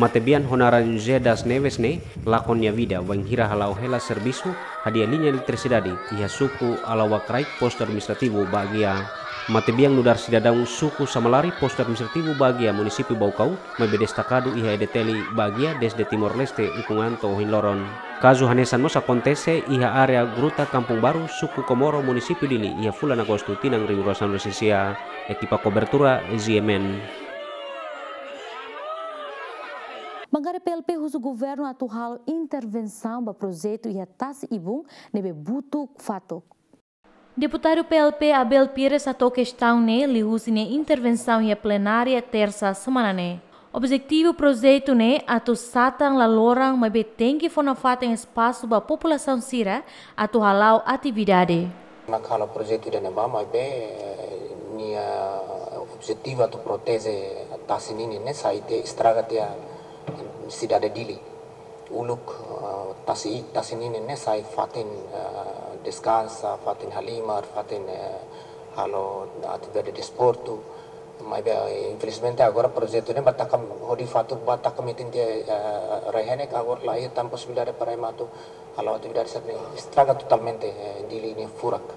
Matebian ho naran José das Neves ne'e lakon nia vida bainhira hala'o hela servisu hadi'a liña eletrisidade iha suku Alawak Raik, postu administrativu Baguia. Matebian nu'udar sidadaun suku Samalari, postu administrativu Baguia, munisípiu Baucau, maibé destakadu iha EDTL Baguia dezde Timor-Leste ukun an to'o ohin loron. Kazu hanesan mós akontese iha área Gruta Kampung Baru, suku Komoro, munisípiu Dili, iha fulan Agostu tinan rihun rua sanulu-resin-sia. Ekipa kobertura Z M N. Bankada P L P husu governu atu halo intervensaun ba projetu iha tasi-ibun ne'ebé butuk fatuk. Deputadu P L P Abel Pires hato'o kestaun ne'e liuhusi nia intervensaun iha plenária Tersa semana ne'e. Objetivu projetu ne'e atu satan la loran, maibé tenke fó nafatin espasu ba populasaun sira atu hala'o atividade. Mak halo projetu ida-ne'ebá, maibé, eh, nia objetivu atu proteje tasi ninin ne'e sai tiha, estraga tiha sidade Dili. Uluk, eh, tasi, tasi ninin ne'e sai fatin, eh, deskansa, fatin halimar, fatin, eh, halo atividade desportu. Maibé, eh, infelizmente agora projetu ne'e ba taka, hodi fatuk ba taka metin tiha, eh, rai-henek, agora laiha tan posibilidade para ema atu halo atividade sira-ne'e, estraga totalmente, eh, Dili nia furak.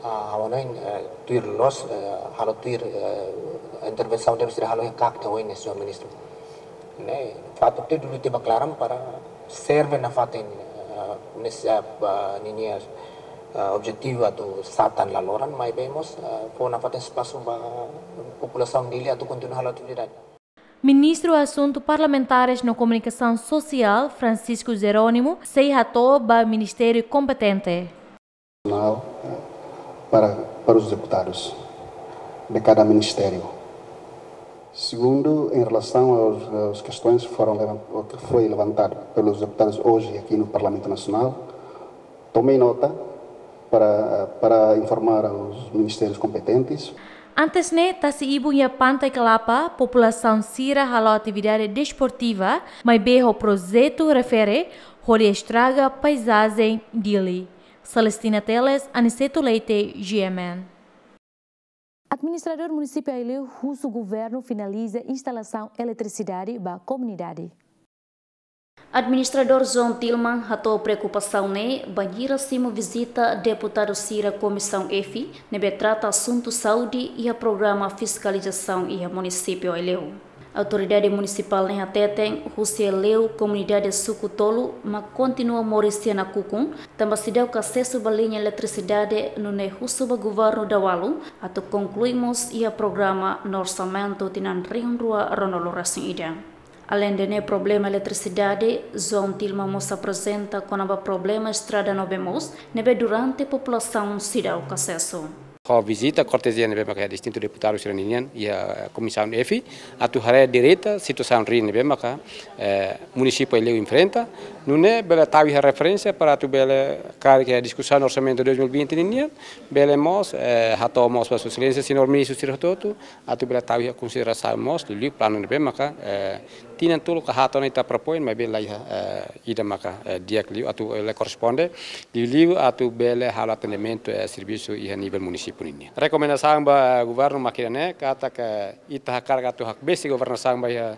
Ah, ha'u hanoin, eh, tuir loos, eh, halo tuir, eh, intervensaun ne'ebé sira halo iha KAK ohin ne'e, señór ministru. Ne'e, fatuk tiha dulu tiha ba klaran para serve nafatin, eh, nes-, eh, ba ninia, eh, objetivu atu satan la loran, maibé mós, eh, fó nafatin espasu ba populasaun Dili atu kontinua halo atividade. Ministru Asuntu Parlamentares no Komunikasaun Sosiál, Francisco Jerónimo, sei hato'o ba ministériu kompetente. Nacional, eh, para, para os deputados de cada ministério. Segundo, em relação aos, aos questões que foram levan-, que foi levantado pelos deputados hoje aqui no Parlamento Nacional, tomei nota para, para informar aos ministérios competentes. Antes ne'e, tasi-ibun iha Pantai Kelapa, populasaun sira halo atividade desportiva, maibé ho projetu refere, hodi estraga paizajen Dili. Celestina Teles, Aniceto Leite, G M N. Administradór Munisípiu Aileu husu governu finaliza instalasaun eletrisidade ba komunidade. Administradór João Tilman hato'o preokupasaun ne'e bainhira simu vizita deputadu sira Komisaun F, ne'ebé trata asuntu saúde iha programa fiskalizasaun iha Munisípiu Aileu. Autoridade munisipál ne'e hateten, husi Aileu komunidade suku tolu mak kontinua moris iha nakukun, tanba seidauk asesu ba liña eletrisidade, nune'e husu ba governu dala barak atu konklui mós iha programa no orsamentu tinan rihun rua ruanulu-resin-ida. Aleinde ne'e problema eletrisidade, João Tilman mós aprezenta kona-ba problema estrada no bee moos, ne'ebé durante populasaun seidauk asesu. Ho vizita kortezia ne'ebé maka distintu deputadu sira ninian iha Komisaun F, atu haree direta situasaun riin ne'ebé maka, eh, Munisípiu Aileu enfrenta, nune'e bele tau iha referénsia para atu bele karik iha diskusaun orsamentu dois mil e vinte ninian, bele mós, eh, hato'o mós ba Sua Exelénsia Señór Ministru sira hotu-hotu, atu bele tau iha konsiderasaun mós, liuliu planu ne'ebé maka, eh, tinan tolu ka haat ona ita propoin, maibé laiha, eh, ida maka, eh, di'ak liu atu, eh, la korresponde, liuliu atu bele halo atendimentu, eh, servisu iha nivel munisípiu ninian. Rekomendasaun ba governu mak ida-ne'e, katak ita hakarak atu hakbesik governasaun ba iha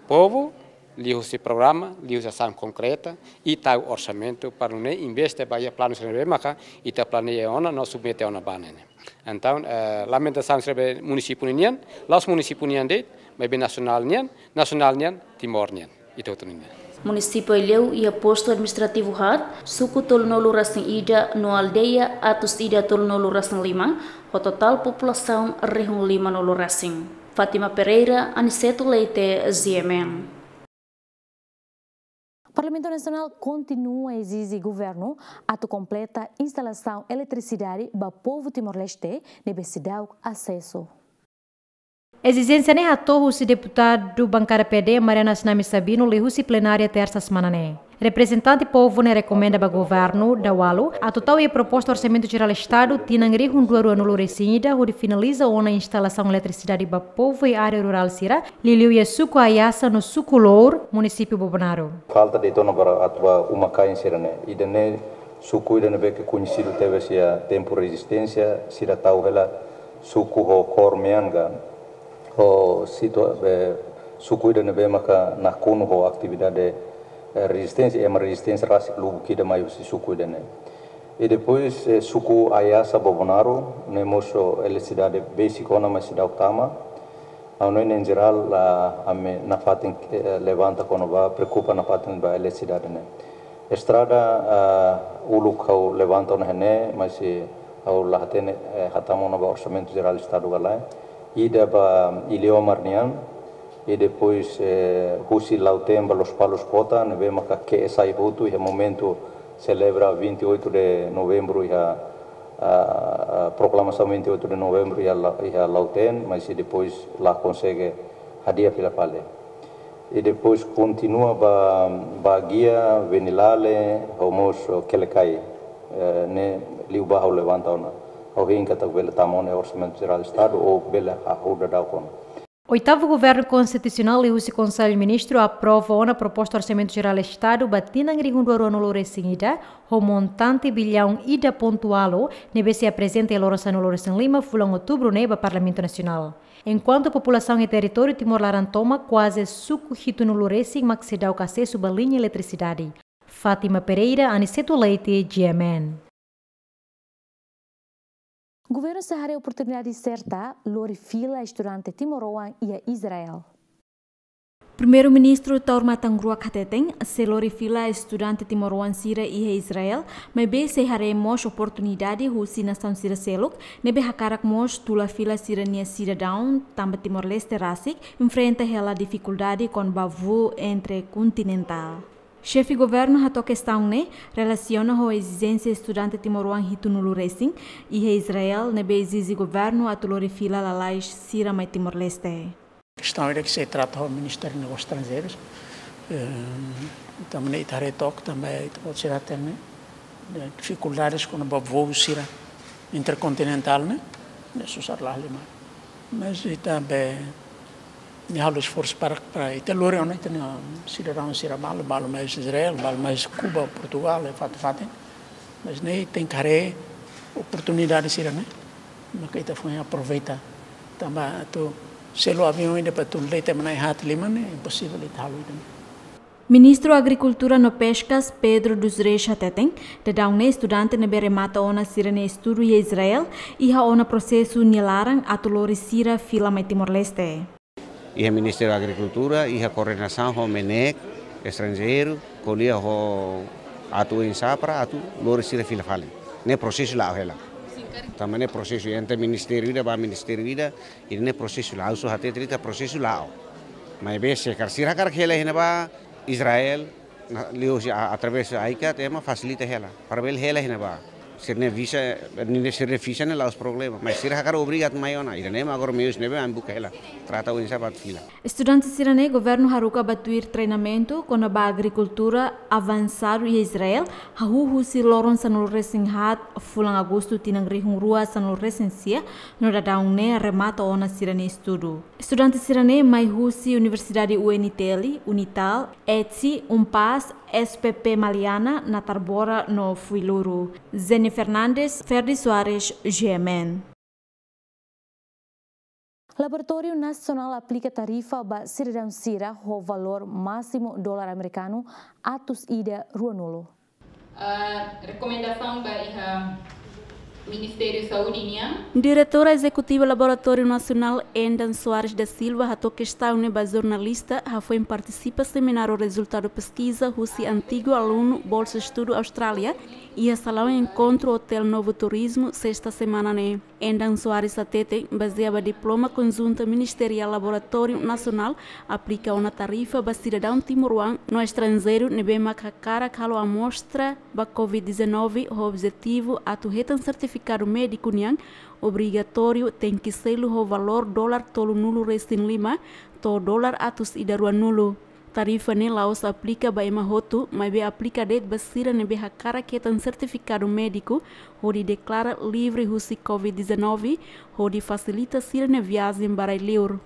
povu, liuhusi programa, liuhusi asaun konkreta, i tau orsamentu para nune'e investe ba iha planu sira ne'ebé maka ita planeia ona no submete ona ba ne'e. Entaun, eh, lamentasaun sira be munisípiu ninian, la'ós munisípiu nian de'it, maibé nasionál nian, nasionál nian, Timor nian, ita hotu ninian. Munisípiu Aileu iha postu administrativu haat, suku tolunulu-resin-ida no aldeia atus ida tolunulu-resin-lima, ho totál populasaun rihun limanulu-resin. Fátima Pereira, Aniceto Leite, G M N. Parlamentu Nasionál kontinua ezije governu atu kompleta instalasaun eletrisidade ba povu Timor-Leste ne'ebé seidauk asesu. Ezijénsia ne'e hato'o husi deputadu bankada P D, Mariana Assinami Sabino, liuhusi plenária Tersa semana ne'e. Reprezentante povu ne'e rekomenda ba governu dala barak atu tau iha proposta Orsamentu Jerál Estadu tinan rihun rua ruanulu-resin-ida hodi finaliza ona instalasaun eletrisidade ba povu iha área rurál sira, liuliu iha suku Ayasa no suku Lour, munisípiu Bobonaro. Falta de'it ona para atu ba uma-kain sira-ne'e. Ida-ne'e suku ida ne'ebé ke koñesidu tebes iha tempu rezisténsia, sira tau hela suku ho kór mean ka, ho situa-, be, Suku ida ne'ebé maka nakonu ho atividade, eh, rezisténsia, ema rezisténsia rasik lubuk ida mai husi suku ida-ne'e. I depois, eh, suku Ayasa Bobonaro, ne'e mós eletrisidade besik ona, mas seidauk tama. Ha'u hanoin, em geral, ah, ami nafatin, eh, levanta kona-ba, preokupa nafatin ba eletrisidade ne'e. Estrada, ah, uluk ha'u levanta ona iha ne'e, mas, eh, ha'u la hatene, eh, hatama ona ba Orsamentu Jerál Estadu ka lae. Ida ba Iliomar nian, i depois, eh, husi Lautém ba Lospalos kota, ne'ebé maka ke'e sai hotu iha momentu selebra vinte e oito de novembro iha, ah, ah, proklamasaun vinte e oito de novembro iha La-, iha Lautém, mas i depois la konsege hadi'a fila fali. I depois kontinua ba, ba Baguia, Venilale, ho mós Quelicai, eh, ne'e liubá ha'u levanta ona. Ha'u hein katak bele tama ona iha Orsamentu Jerál Estadu ou bele hahú daudauk ona. Oitavu Governu Konstitusionál liuhusi Konsellu Ministru aprova ona proposta Orsamentu Jerál Estadu ba tinan rihun rua ruanulu resin ida, ho montante billaun ida pontu ualu, ne'ebé sei aprezenta iha loron sanulu resin lima fulan Outubru ne'e ba Parlamentu Nasionál. Enkuantu populasaun iha territóriu Timor laran tomak kuaze suku hitunulu resin mak seidauk asesu ba liña eletrisidade. Fátima Pereira, Aniceto Leite, G M N. Governu sei haree oportunidade serta lori fila estudante timoroan iha Israel. Primeiru-Ministru Taur Matan Ruak hateten, sei lori fila estudante timoroan sira iha Israel, maibé sei haree mós oportunidade husi nasaun sira seluk, ne'ebé hakarak mós tula fila sira-nia sidadaun, tanba Timor-Leste rasik enfrenta hela difikuldade kona-ba voo interkontinentál. Xefe Governu hato'o kestaun ne'e relasiona ho ezijénsia estudante timoroan hitunulu resin iha Israel, ne'ebé ezije Governu atu lori fila lalais sira mai Timor-Leste. Kestaun ida ke sei trata ho Ministériu Negósius Estranjeirus. Eh, tanba ne'e ita haree took, tanba ita-boot sira hatene, eh, difikuldades kona-ba voo sira interkontinentál ne'e, ne'e susar la halimar. Mas ita be, nia halo esforsu para, para ita lori ona ita-nia sidadaun sira balu, balu mai Israel, balu mai Kuba, Portugal, iha fatin-fatin. Mas ne'e tenke haree oportunidade sira-ne'e, maka ita foin aproveita. Tanba atu selu aviaun ida para atu de'it ema na'in haat liman ne'e imposivel ita halo ida-ne'e. Ministru Agrikultura no Peskas, Pedro dos Reis hateten, daudaun ne'e estudante ne'ebé remata ona sira-nia estudu iha Israel, iha ona prosesu nia laran atu lori sira fila mai Timor-Leste. Iha Ministériu Agrikultura, iha koordenasaun ho MNEK, estranjeiru, ko'alia ho atu oinsá para atu lori sira fila fali. Ne'e prosesu la'o hela. Tanba ne'e prosesu entre ministériu ida ba ministériu ida, i ne'e prosesu la'o, ha'u só hatete katak prosesu la'o. Maibé se karik sira hakarak hela iha ne'ebá, Israel, na, liuhusi a, através AICAT, ema fasilita hela. Para bele hela iha ne'ebá. Sira-nia visa, ne'e sira-nia visa ne'e la'ós problema. Mas sira hakarak obriga atu mai ona. Ida-ne'e mak agora meius ne'ebé ami buka hela. Trata oinsá ba fila. Estudante sira-ne'e Governu haruka ba tuir treinamentu kona-ba agrikultura avansadu iha Israel, hahú husi loron sanulu resin haat fulan Agostu tinan rihun rua sanulu resin sia, no daudaun ne'e remata ona sira-nia estudu. Estudante sira-ne'e mai husi Universidade U N T L, Unital, ETSE, UNPAZ, S P P Maliana, Natarbora no Fuiloro. Zeni Fernandes, Ferdi Soares, G M N. Laboratóriu Nasionál aplika tarifa ba sidadaun sira ho valór másimu dolar amerikanu atus ida ruanulu. Ah, rekomendasaun ba iha Ministériu Saúde nian. Diretora Ezekutiva Laboratóriu Nasionál, Endan Soares da Silva, hato'o kestaun ne'e ba jornalista, hafoin partisipa semináriu rezultadu peskiza husi antigu alunu Bolsa Estudu Austrália, iha salaun enkontru Hotel Novo Turismo, sesta semana ne'e. Endan Soares hateten, bazeia ba diploma konjunta ministeriál Laboratóriu Nasionál aplika ona tarifa ba sidadaun timoroan no estranjeiru ne'ebé mak hakarak halo amostra ba covid dezanove ho objetivu atu hetan sertifikadu médiku nian, obrigatóriu tenke selu ho valór dolar tolunulu resin lima to'o dolar atus ida ruanulu. Tarifa ne'e la'ós aplika ba ema hotu, maibé aplika de'it ba sira ne'ebé hakarak hetan sertifikadu médiku, hodi deklara livre husi covid dezanove, hodi fasilita sira-nia viajen ba rai-liur.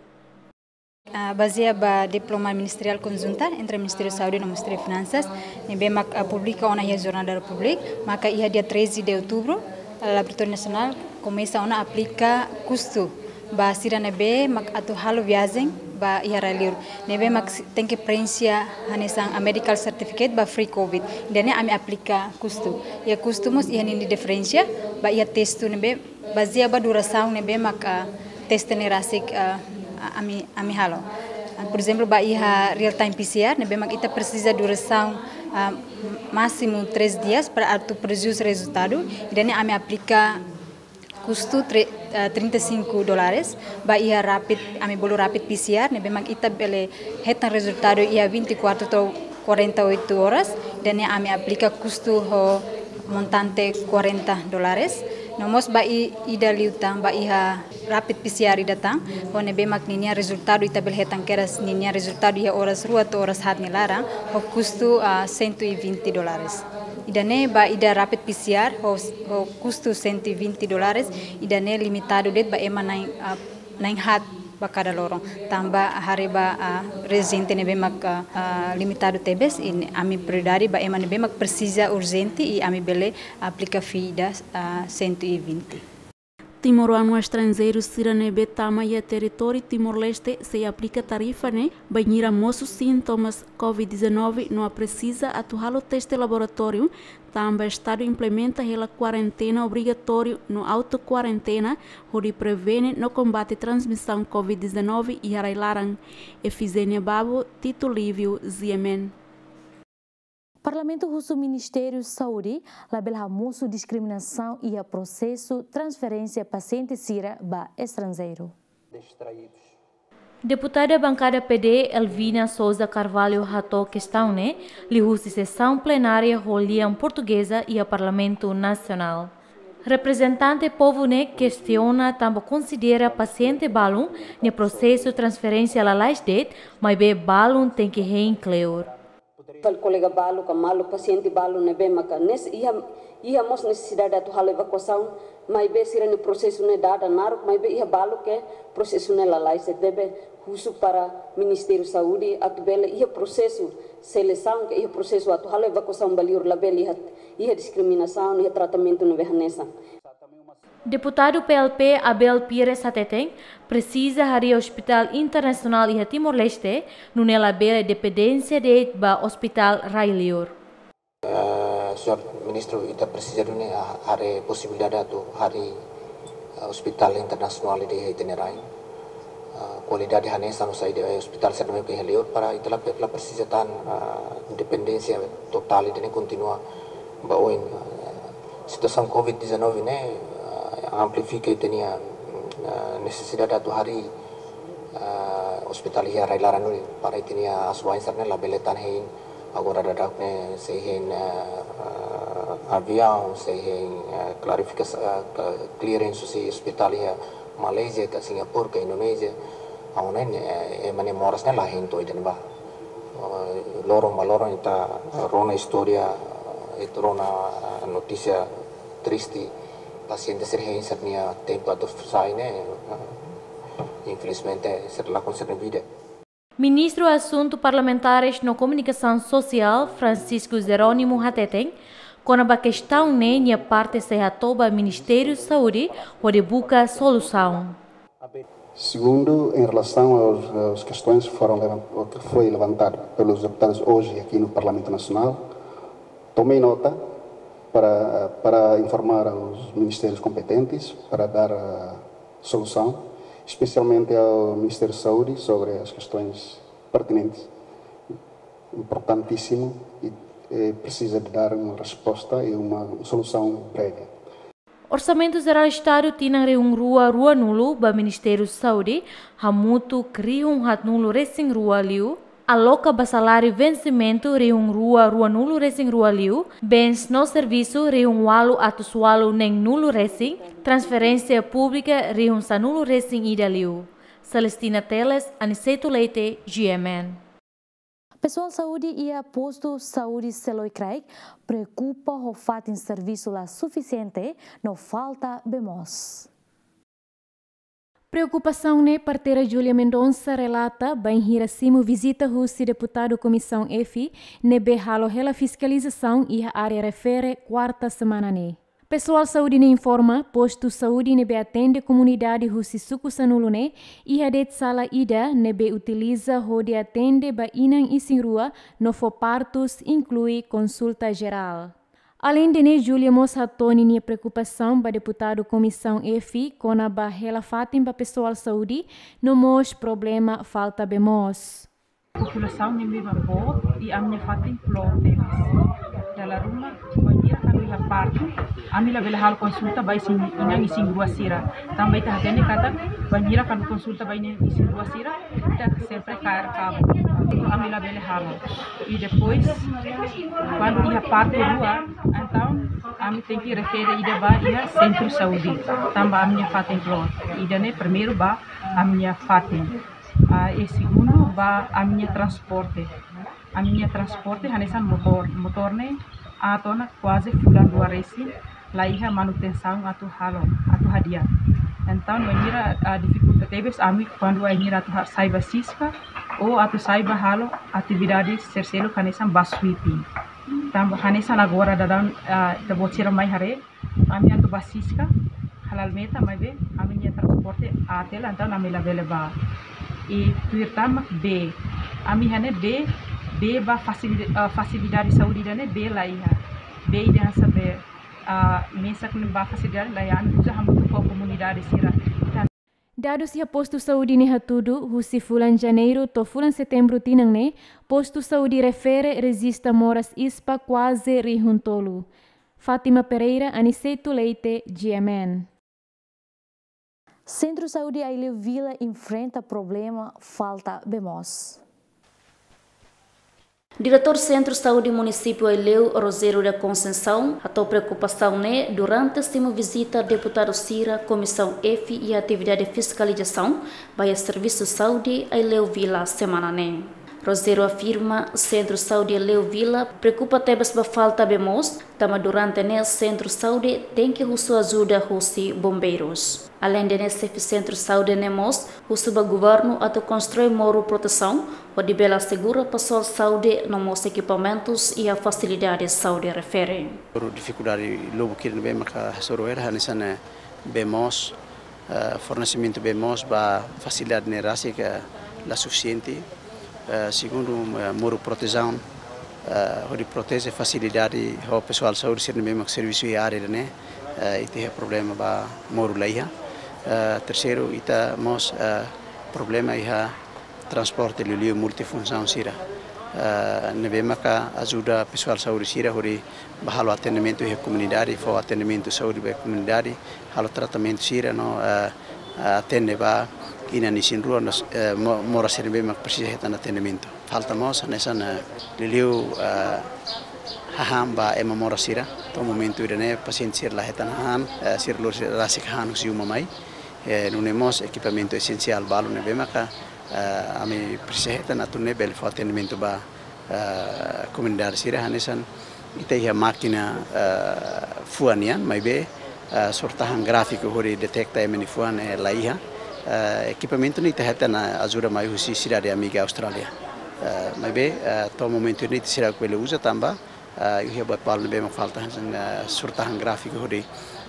Ah, bazeia ba diploma ministeriál konjunta entre Ministériu Saúde no Ministériu Finansas, ne'ebé mak, ah, publika ona iha Jornál da Repúblika, maka iha dia treze de outubro, ah, Laboratóriu Nasionál komesa ona aplika kustu ba sira ne'ebé mak atu halo viajen Ba iha rai-liur ne'ebé mak si-, tenke preenxe hanesan a medical certificate ba free covid. Ida-ne'e ami aplika kustu. Iha kustu mós iha ninia diferensa, ba iha testu ne'ebé bazeia ba durasaun ne'ebé mak, ah, teste ne'e rasik, ah, ami, ami halo. Ah, por ezemplu, ba iha real time P C R ne'ebé mak ita presiza durasaun, ah, másimu três dias para atu produz rezultadu. Ida-ne'e ami aplika kustu tre-, eh, trinta e cinco dólares, ba iha rapid, ami bolu rapid P C R, ne'ebé mak ita bele hetan rezultadu iha vinte e quatro to'o quarenta e oito horas, ida-ne'e ami aplika kustu ho montante quarenta dólares. No mós ba i-, ida liután, ba iha rapid P C R ida tan, ho ne'ebé mak ninia rezultadu ita bele hetan kedas ninia rezultadu iha oras rua to'o oras haat nia laran, ho kustu, ah, cento e vinte dólares. Ida-ne'e ba ida rapid P C R ho, ho kustu cento e vinte dólares, ida-ne'e limitadu de'it ba ema na'in, ah, na'in haat ba kada loron. Tanba haree ba, ah, rezente ne'ebé mak, ah, limitadu tebes, i ami prioridade ba ema ne'ebé mak presiza urjente i ami bele aplika fee ida, ah, cento e vinte. Timoroan no estranjeiru sira ne'ebé tama iha territóriu Timor-Leste sei aplika tarifa ne'e bainhira mosu sintomas covid dezanove no presiza atu halo teste laboratóriu, tanba Estadu implementa hela kuarentena obrigatóriu no auto-kuarentena hodi prevene no kombate transmisaun covid dezanove iha rai-laran. Efizénia Babo, Tito Lívio, G M N. Parlamentu husu Ministériu Saúde labele hamosu diskriminasaun iha prosesu transferénsia pasiente sira ba estranjeiru. Deputada bankada P D, Elvina Sousa Carvalho, hato'o kestaun ne'e liuhusi sesaun plenária ho lian portugeza iha Parlamentu Nasionál. Reprezentante povu ne'e kestiona tanba konsidera pasiente balun nia prosesu transferénsia lalais de'it, maibé balun tenke hein kleur. Fali kolega balu ka malu pasiente balu ne'ebé maka nes-, iha, iha mós nesesidade atu halo evakuasaun, maibé sira-nia prosesu ne'e dada naruk, maibé iha balu ke prosesu ne'e lalais, ne'ebé husu para Ministériu Saúde atu bele iha prosesu selesaun ke iha prosesu atu halo evakuasaun ba liur, labele iha, iha diskriminasaun, iha tratamentu ne'ebé hanesan. Deputadu P L P Abel Pires hateten, presiza harii ospitál internasionál iha Timor-Leste, nune'e labele dependénsia de'it ba ospitál rai-liur. Eh, señór Ministru, ita presiza duni, ah, harii posibilidade atu harii, ah, ospitál internasionál ida iha ita-nia rain. Ah, kualidade hanesan no saida, eh, ospitál sira ne'ebé iha liur para ita la, la presiza tan, ah, dependénsia totál ida-ne'e kontinua ba oin. Ah, situasaun covid dezanove ne'e, ah, amplifika ita-nia, ah, nesesidade atu harii, ah, ospitál iha rai-laran duni para ita-nia asuwa'in sira ne'e labele tan hein. Agora daudaun ne'e sei hein, eh, eh, aviaun, sei hein, eh, klarifikasaun, eh, ke-, clearance husi ospitál iha Malázia, ka Singapura, ka Indonézia. Agora ne'e, eh, ema nia moras ne'e la hein to'o ida-ne'ebá. Eh, loron ba loron ita rona istória, eh, ita rona, eh, notísia triste. Pasiente sira hein sira-nia tempu atu sai ne'e, eh, infelizmente sira lakon sira-nia vida. Ministru Asuntu Parlamentares no Komunikasaun Sosiál, Francisco Jerónimo, hateten, kona-ba kestaun ne'e nia parte sei hato'o ba Ministériu Saúde hodi buka solusaun. Segundo, em relação aos, às questões que foram levan-, que foi levantado pelos deputados hoje aqui no Parlamento Nacional, tomei nota para, para informar aos ministérios competentes para dar, ah, solução, especialmente ao Ministério da Saúde, sobre as questões pertinentes. Importantíssimo e, eh, precisa de dar uma resposta e uma solução breve. Orsamentu Jerál Estadu tinan rihun rua ruanulu ba Ministériu Saúde hamutuk rihun haatnulu resin rua liu, aloka ba saláriu vensimentu rihun rua ruanulu resin rua liu, bens no servisu rihun ualu atus ualu neenulu resin, transferénsia públika rihun sanulu resin ida liu. Celestina Teles, Aniceto Leite, G M N. Pesoál saúde iha postu saúde Seloi Kraik preokupa ho fatin servisu la sufisiente no falta bee moos. Preokupasaun ne'e parteira Júlia Mendonça relata bainhira simu vizita husi deputadu Komisaun F, ne'ebé halo hela fiskalizasaun iha área refere kuarta semana ne'e. Pesoál saúde ne'e informa, postu saúde ne'ebé atende komunidade husi suku sanulu ne'e iha de'it sala ida ne'ebé utiliza hodi atende ba inan isin-rua no fó partus, inklui konsulta jerál. Aleinde ne'e, Júlia mós hato'o ninia preokupasaun ba deputadu Komisaun F kona-ba hela fatin ba pesoál saúde no mós problema falta bee moos. Populasaun ne'e memang boot i ami-nia fatin kloot tebes. Dala ruma, bainhira kuandu iha partu, ami labele halo konsulta ba isin, inan isin-rua sira. Tanba ita hatene katak, bainhira kuandu konsulta ba inan isin-rua sira, ita sempre kaer kabu. Ami labele halo. I depois, kuandu iha partu rua, entaun ami tenke refere ida ba iha sentru saúde. Tanba ami-nia fatin kloot. Ida-ne'e primeiru ba ami-nia fatin. Ah, i segundu, ba ami-nia transporte. Ami-nia transporte hanesan motór. Motór ne'e aat ona kuaze fulan rua resin, la iha manutensaun atu halo, atu hadi'a. Entaun, bainhira, ah, difikulta tebes ami kuandu bainhira atu ha-, sai ba siska, ou atu sai ba halo atividade seluseluk hanesan ba sweeping. Tanba hanesan agora daudaun, ah, ita-boot sira mai haree, ami atu ba siska, hala'o meta, maibé ami-nia transporte aat hela, entaun ami labele ba. I tuir tan mak bee, ami hatene bee, bee ba fasili-, ah, fasilidade saúde ida-ne'e bee la iha. Bee ida hanesan bee, ah, mesak ne'e ba fasilidade la iha, ami uza hamutuk ho komunidade sira. Dadus iha postu saúde ne'e hatudu, husi fulan Janeiru to'o fulan Setembru tinan ne'e, postu saúde refere rejista moras ispa kuaze rihun tolu. Fátima Pereira, Aniceto Leite, G M N. Sentru Saúde Aileu Vila enfrenta problema falta bee moos. Diretór Sentru Saúde Munisípiu Aileu, Rogério da Conceição, hato'o preokupasaun ne'e durante simu vizita deputadu sira Komisaun F iha atividade fiskalizasaun ba iha servisu saúde Aileu Vila semana ne'e. Rogério afirma, Sentru Saúde Aileu Vila preokupa tebes ba falta bee moos, tanba durante ne'e Sentru Saúde tenke husu ajuda husi bombeirus. Aleinde ne'e, xefe Sentru Saúde ne'e mós husu ba governu atu konstrui moru protesaun, hodi bele asegura pesoál saúde no mós ekipamentus iha fasilidade saúde refere. Moru difikuldade lubuk ida ne'ebé maka hasoru hela hanesan, eh, bee moos, eh, fornesimentu bee moos ba fasilidade ne'e rasik, eh, la sufisiente. Eh, segundu, eh, moru protesaun, eh, hodi proteje fasilidade ho pesoál saúde sira ne'ebé mak servisu iha área ida-ne'e, eh, ita iha problema ba moru la iha. Eh, terseiru, ita mós, eh, problema iha transporte liuliu multifunsaun sira. Eh, ne'ebé maka ajuda pesoál saúde sira hodi ba halo atendimentu iha komunidade, fó atendimentu saúde ba komunidade, halo tratamentu sira no, eh, atende ba inan isin-rua no, eh, mo-, moras sira ne'ebé mak presiza hetan atendimentu. Falta mós hanesan, eh, liuliu, eh, hahán ba ema moras sira. To'o momentu ida-ne'e pasiente sira la hetan hahán, eh, sira lori sira rasik hahán husi uma mai. Eh, nune'e mós ekipamentu esensiál balu ne'ebé maka, eh, ami presiza hetan atu nune'e bele fó atendimentu ba, eh, komunidade sira hanesan ita iha mákina, eh, fuan nian, maibé, eh, surat-tahan gráfiku hodi deteta ema nia fuan, eh, la iha. Eh, ekipamentu ne'e ita hetan ajuda mai husi sidade amiga Austrália. Eh, maibé, eh, to'o momentu ne'e ita seidauk bele uza tanba, eh, iha buat balu ne'ebé mak falta hanesan, eh, surat-tahan gráfiku hodi,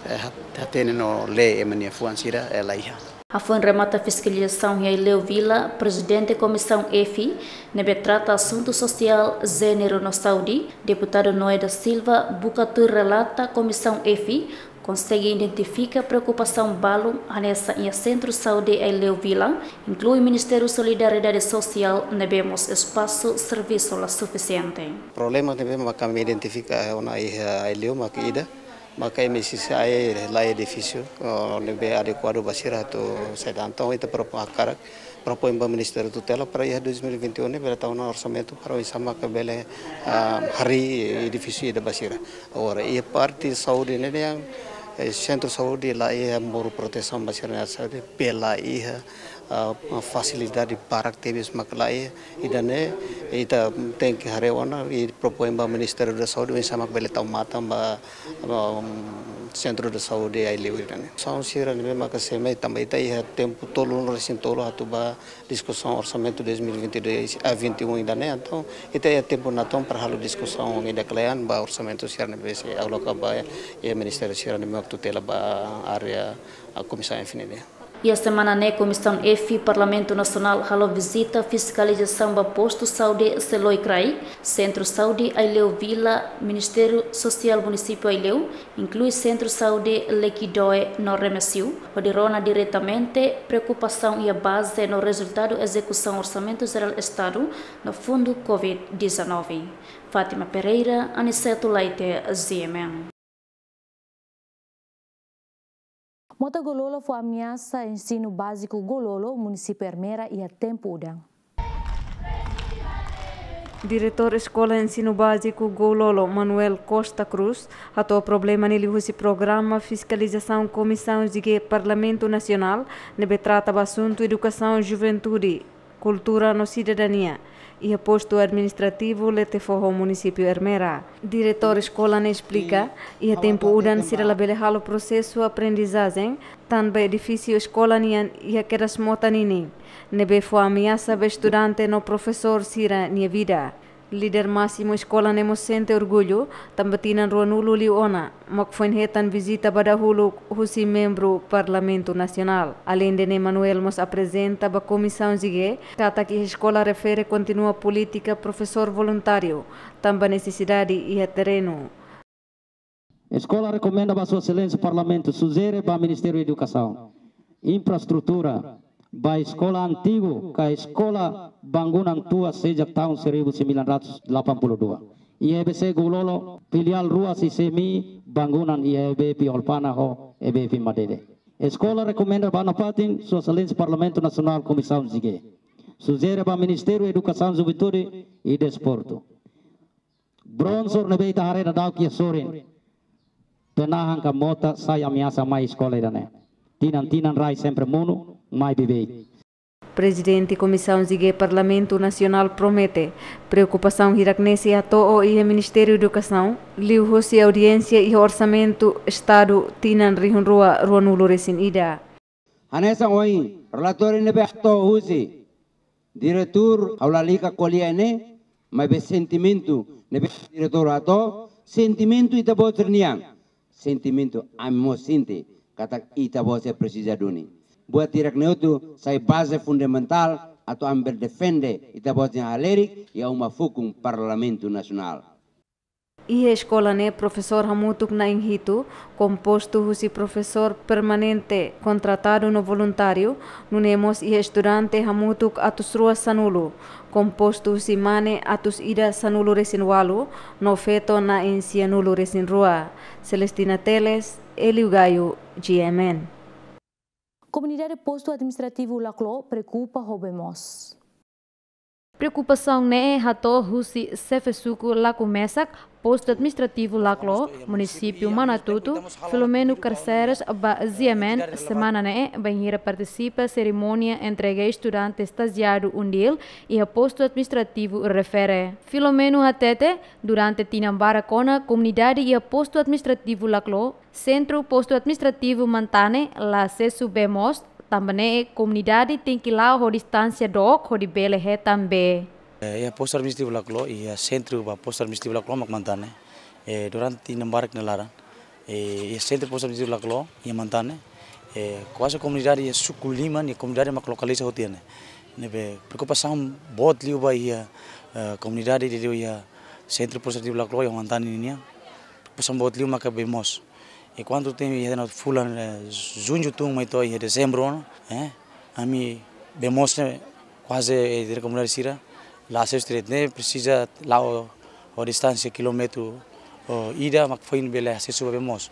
eh, hat-, hatene no lee ema nia fuan sira, eh, la iha. Hafoin remata fiskalizasaun iha Aileu Vila, Prezidente Komisaun F ne'ebé trata asuntu sosiál, jéneru no saúde, Deputadu Noé da Silva, buka tuir relata Komisaun F konsege identifika preokupasaun balu hanesan iha Sentru Saúde Aileu Vila, inklui Ministériu Solidariedade Sosiál ne'ebé mós espasu servisu la sufisiente. Problema ne'ebé maka ami identifika ona iha Aileu maka ida, maka M S C I la iha edifísiu, oh, ne'ebé adekuadu ba sira atu sai dalan. Entaun ita propo-, hakarak propoin ba Ministériu Tutela para iha dois mil e vinte e um ne'e bele tau ona orsamentu para oinsá maka bele, ah, harii edifísiu ida ba sira. Agora, iha parte saúde ne'e, eh, sentru saúde la iha moru protesaun ba sira-nia saúde, bee la iha, Ah, fasilidade barak tebes mak laiha, ida-ne'e ita tenke haree ona i propoin ba Ministériu da Saúde, oinsá mak bele tau matan ba, ba, um, Sentru da Saúde Aileu ida-ne'e. Diskusaun sira-ne'e maka sei mai tanba ita iha tempu tolu, resin tolu atu ba diskusaun orsamentu dois mil e vinte e dois a vinte e um ida-ne'e, entaun ita iha tempu natoon para halo diskusaun ida kle'an ba orsamentu sira-ne'ebé sei aloka ba iha ministériu sira-ne'ebé mak tutela ba área, ah, Komisaun F nian. Iha semana ne'e Komisaun F Parlamentu Nasionál halo vizita fiskalizasaun ba postu saúde Seloi Kraik, Sentru Saúde Aileu Vila, Ministériu Sosiál Munisípiu Aileu, inklui Sentru Saúde Lekidoe no Remexio, hodi rona diretamente preokupasaun iha baze no rezultadu ezekusaun Orsamentu Jerál Estadu no Fundu covid dezanove. Fátima Pereira, Aniceto Laite, G M N. Mota Goulolo fó ameasa ensinu báziku Goulolo, munisípiu Ermera, iha tempu udan. Diretór Eskola Ensinu Báziku Goulolo, Manuel Costa Cruz, hato'o problema ne'e liuhusi programa fiskalizasaun Komisaun G Parlamentu Nasionál ne'ebé trata ba asuntu edukasaun, juventude, kultura no sidadania iha postu administrativu Letefoho, munisípiu Ermera. Diretór eskola ne'e esplika, iha tempu udan sira labele halo prosesu aprendizajen tanba edifísiu eskola nian iha kedas mota ninin, ne'ebé fó ameasa ba estudante no profesór sira-nia vida. Líder másimu eskola ne'e mós sente orgullu tanba tinan ruanulu liu ona mak foin hetan vizita ba dahuluk husi membru Parlamentu Nasionál. Aleinde ne'e, Manuel mós aprezenta ba Komisaun G katak iha eskola refere kontinua polítika profesór voluntáriu tanba nesesidade iha terrenu. Eskola rekomenda ba Sua Exelénsia Parlamentu, sujere ba Ministériu Edukasaun, infraestrutura ba eskola antigu ka eskola bangunan tua sejak tahun seribu sembilan ratus delapan puluh dua. Iha E B C Goulolo, filiál rua C C M I bangunan iha E B P Olpana ho E B P Madede. Eskola rekomenda ba nafatin Sua Exelénsia Parlamentu Nasionál, Komisaun G. Sujere ba Ministériu Edukasaun, Juventude i Desportu. Brownsword ne'ebé ita haree daudaun iha sorin. Penahan ka mota sai ameasa mai eskola ida-ne'e. Tinan-tinan rai sempre monu, mai beibeik. Prezidente Komisaun G Parlamentu Nasionál promete preokupasaun hirak-ne'e sei hato'o iha Ministériu Edukasaun, liuhusi audiénsia iha Orsamentu Estadu tinan rihun rua ruanulu resin ida. Hanesan ohin relatóriu ne'ebé hato'o husi diretór, ha'u lalika ko'alia ne'e, maibé sentimentu ne'ebé diretór hato'o, sentimentu ita-boot nian. Sentimentu ami mós sente katak ita-boot sira presiza duni. Buat hirak-ne'e hotu sai baze fundamentál atu ami bele defende ita-boot nia halerik iha uma fukun Parlamentu Nasionál. Iha eskola ne'e profesór hamutuk na'in hitu, kompostu husi profesór permanente kontratadu no voluntáriu, nune'e mós iha estudante hamutuk atus rua sanulu, kompostu husi mane atus ida sanulu resin ualu, no feto na'in sianulu resin rua. Celestina Teles, Elio Gaio, G M N. Komunidade Postu Administrativu Laklo preokupa ho bee moos. Preokupasaun ne'e hato'o husi xefe suku Laku Mesak, Postu Administrativu Laklo, Munisípiu Manatutu, Filomeno Carceres ba G M N semana ne'e, bainhira partisipa serimónia entrega estudante estajiadu UNDIL iha Postu Administrativu refere. Filomeno hatete, durante tinan barak ona komunidade iha Postu Administrativu Laklo, Sentru Postu Administrativu Mantane la asesu bee moos, tanba ne'e komunidade tenke la'o ho distánsia dook hodi bele hetan bee. Eh, iha Postu Administrativu Laklo, iha sentru ba Postu Administrativu Laklo mak Mantane. Eh, durante tinan barak nia laran, eh, iha sentru Postu Administrativu Laklo, iha Mantane, eh, kuaze komunidade iha suku lima nia komunidade mak lokaliza hotu iha ne'e. Ne'ebé preokupasaun boot liu ba iha, eh, komunidade ida liu iha sentru Postu Administrativu Laklo iha Mantane nian. Preokupasaun boot liu maka bee moos. Enkuantu temi iha fulan, eh, Juñu tun mai to'o iha Dezembru ona, eh, ami bee moos ne'e kuaze, eh, ita-nia komunidade sira la asesu direitu, ne'e presiza la'o ho distánsia kilómetru, oh, ida mak foin bele asesu ba bee moos.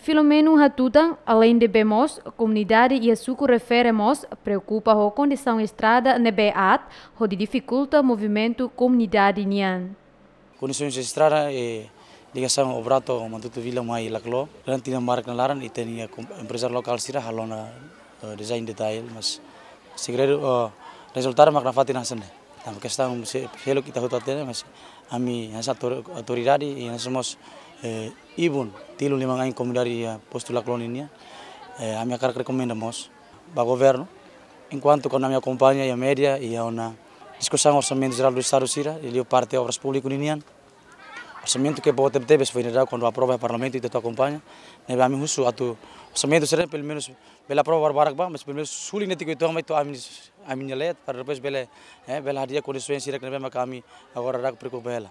Filomeno hatutan, aleinde bee moos, komunidade iha suku refere mós preokupa ho kondisaun estrada ne'ebé aat, hodi difikulta movimentu komunidade nian. Kondisaun estrada, eh, ligasaun Obrato, Manatutu Vila mai Laklo. Durante tinan barak nia laran, ita-nia kom-, emprezáriu lokál sira halo ona, eh, design detail, mas Segredu, eh, rezultadu mak nafatin hanesan ne'e. Tanba kestaun se felu kita hotu hatene, mas ami hanesan autor-, autoridade i hanesan mós, eh, ibun tilun liman ain komunidade iha postu Laclo nian. Eh, ami hakarak rekomenda mós ba governu, enkuantu kuandu ami akompaña iha média, iha ona diskusaun Orsamentu Jerál do Estadu sira, i liu parte Obras Públikas nian. Orsamentu ke boot tebetebes foin dadauk kuandu aprova iha Parlamentu, ita atu akompaña. Ne'ebé ami husu atu orsamentu sira pelumenus bele aprova barak-barak ba, mas pelumenus suli netik oituan mai to'o ami, ami-nia leet, para depois bele, eh, bele hadi'a kondisaun sira ne'ebé maka ami agora dak preokupa hela.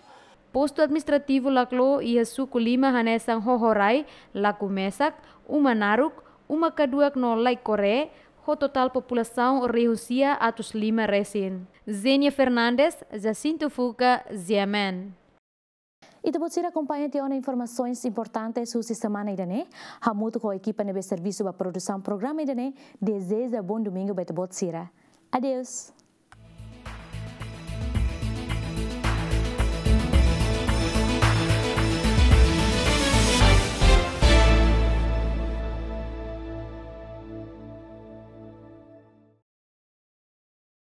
Postu Administrativu Laclo iha suku lima hanesan Hohorai, Laku Mesak, Uma Naruk, Uma Kaduak no Laik Kore, ho totál populasaun rihun sia atus lima resin. Zenia Fernandes, Jacinto Fuca, G M N. Ita-boot sira akompaña tiha ona informasoens importantes husi semana ida-ne'e. Hamutuk ho ekipa ne'ebé servisu ba produsaun programa ida-ne'e, dezeja bom domingo ba ita-boot sira. Adeus.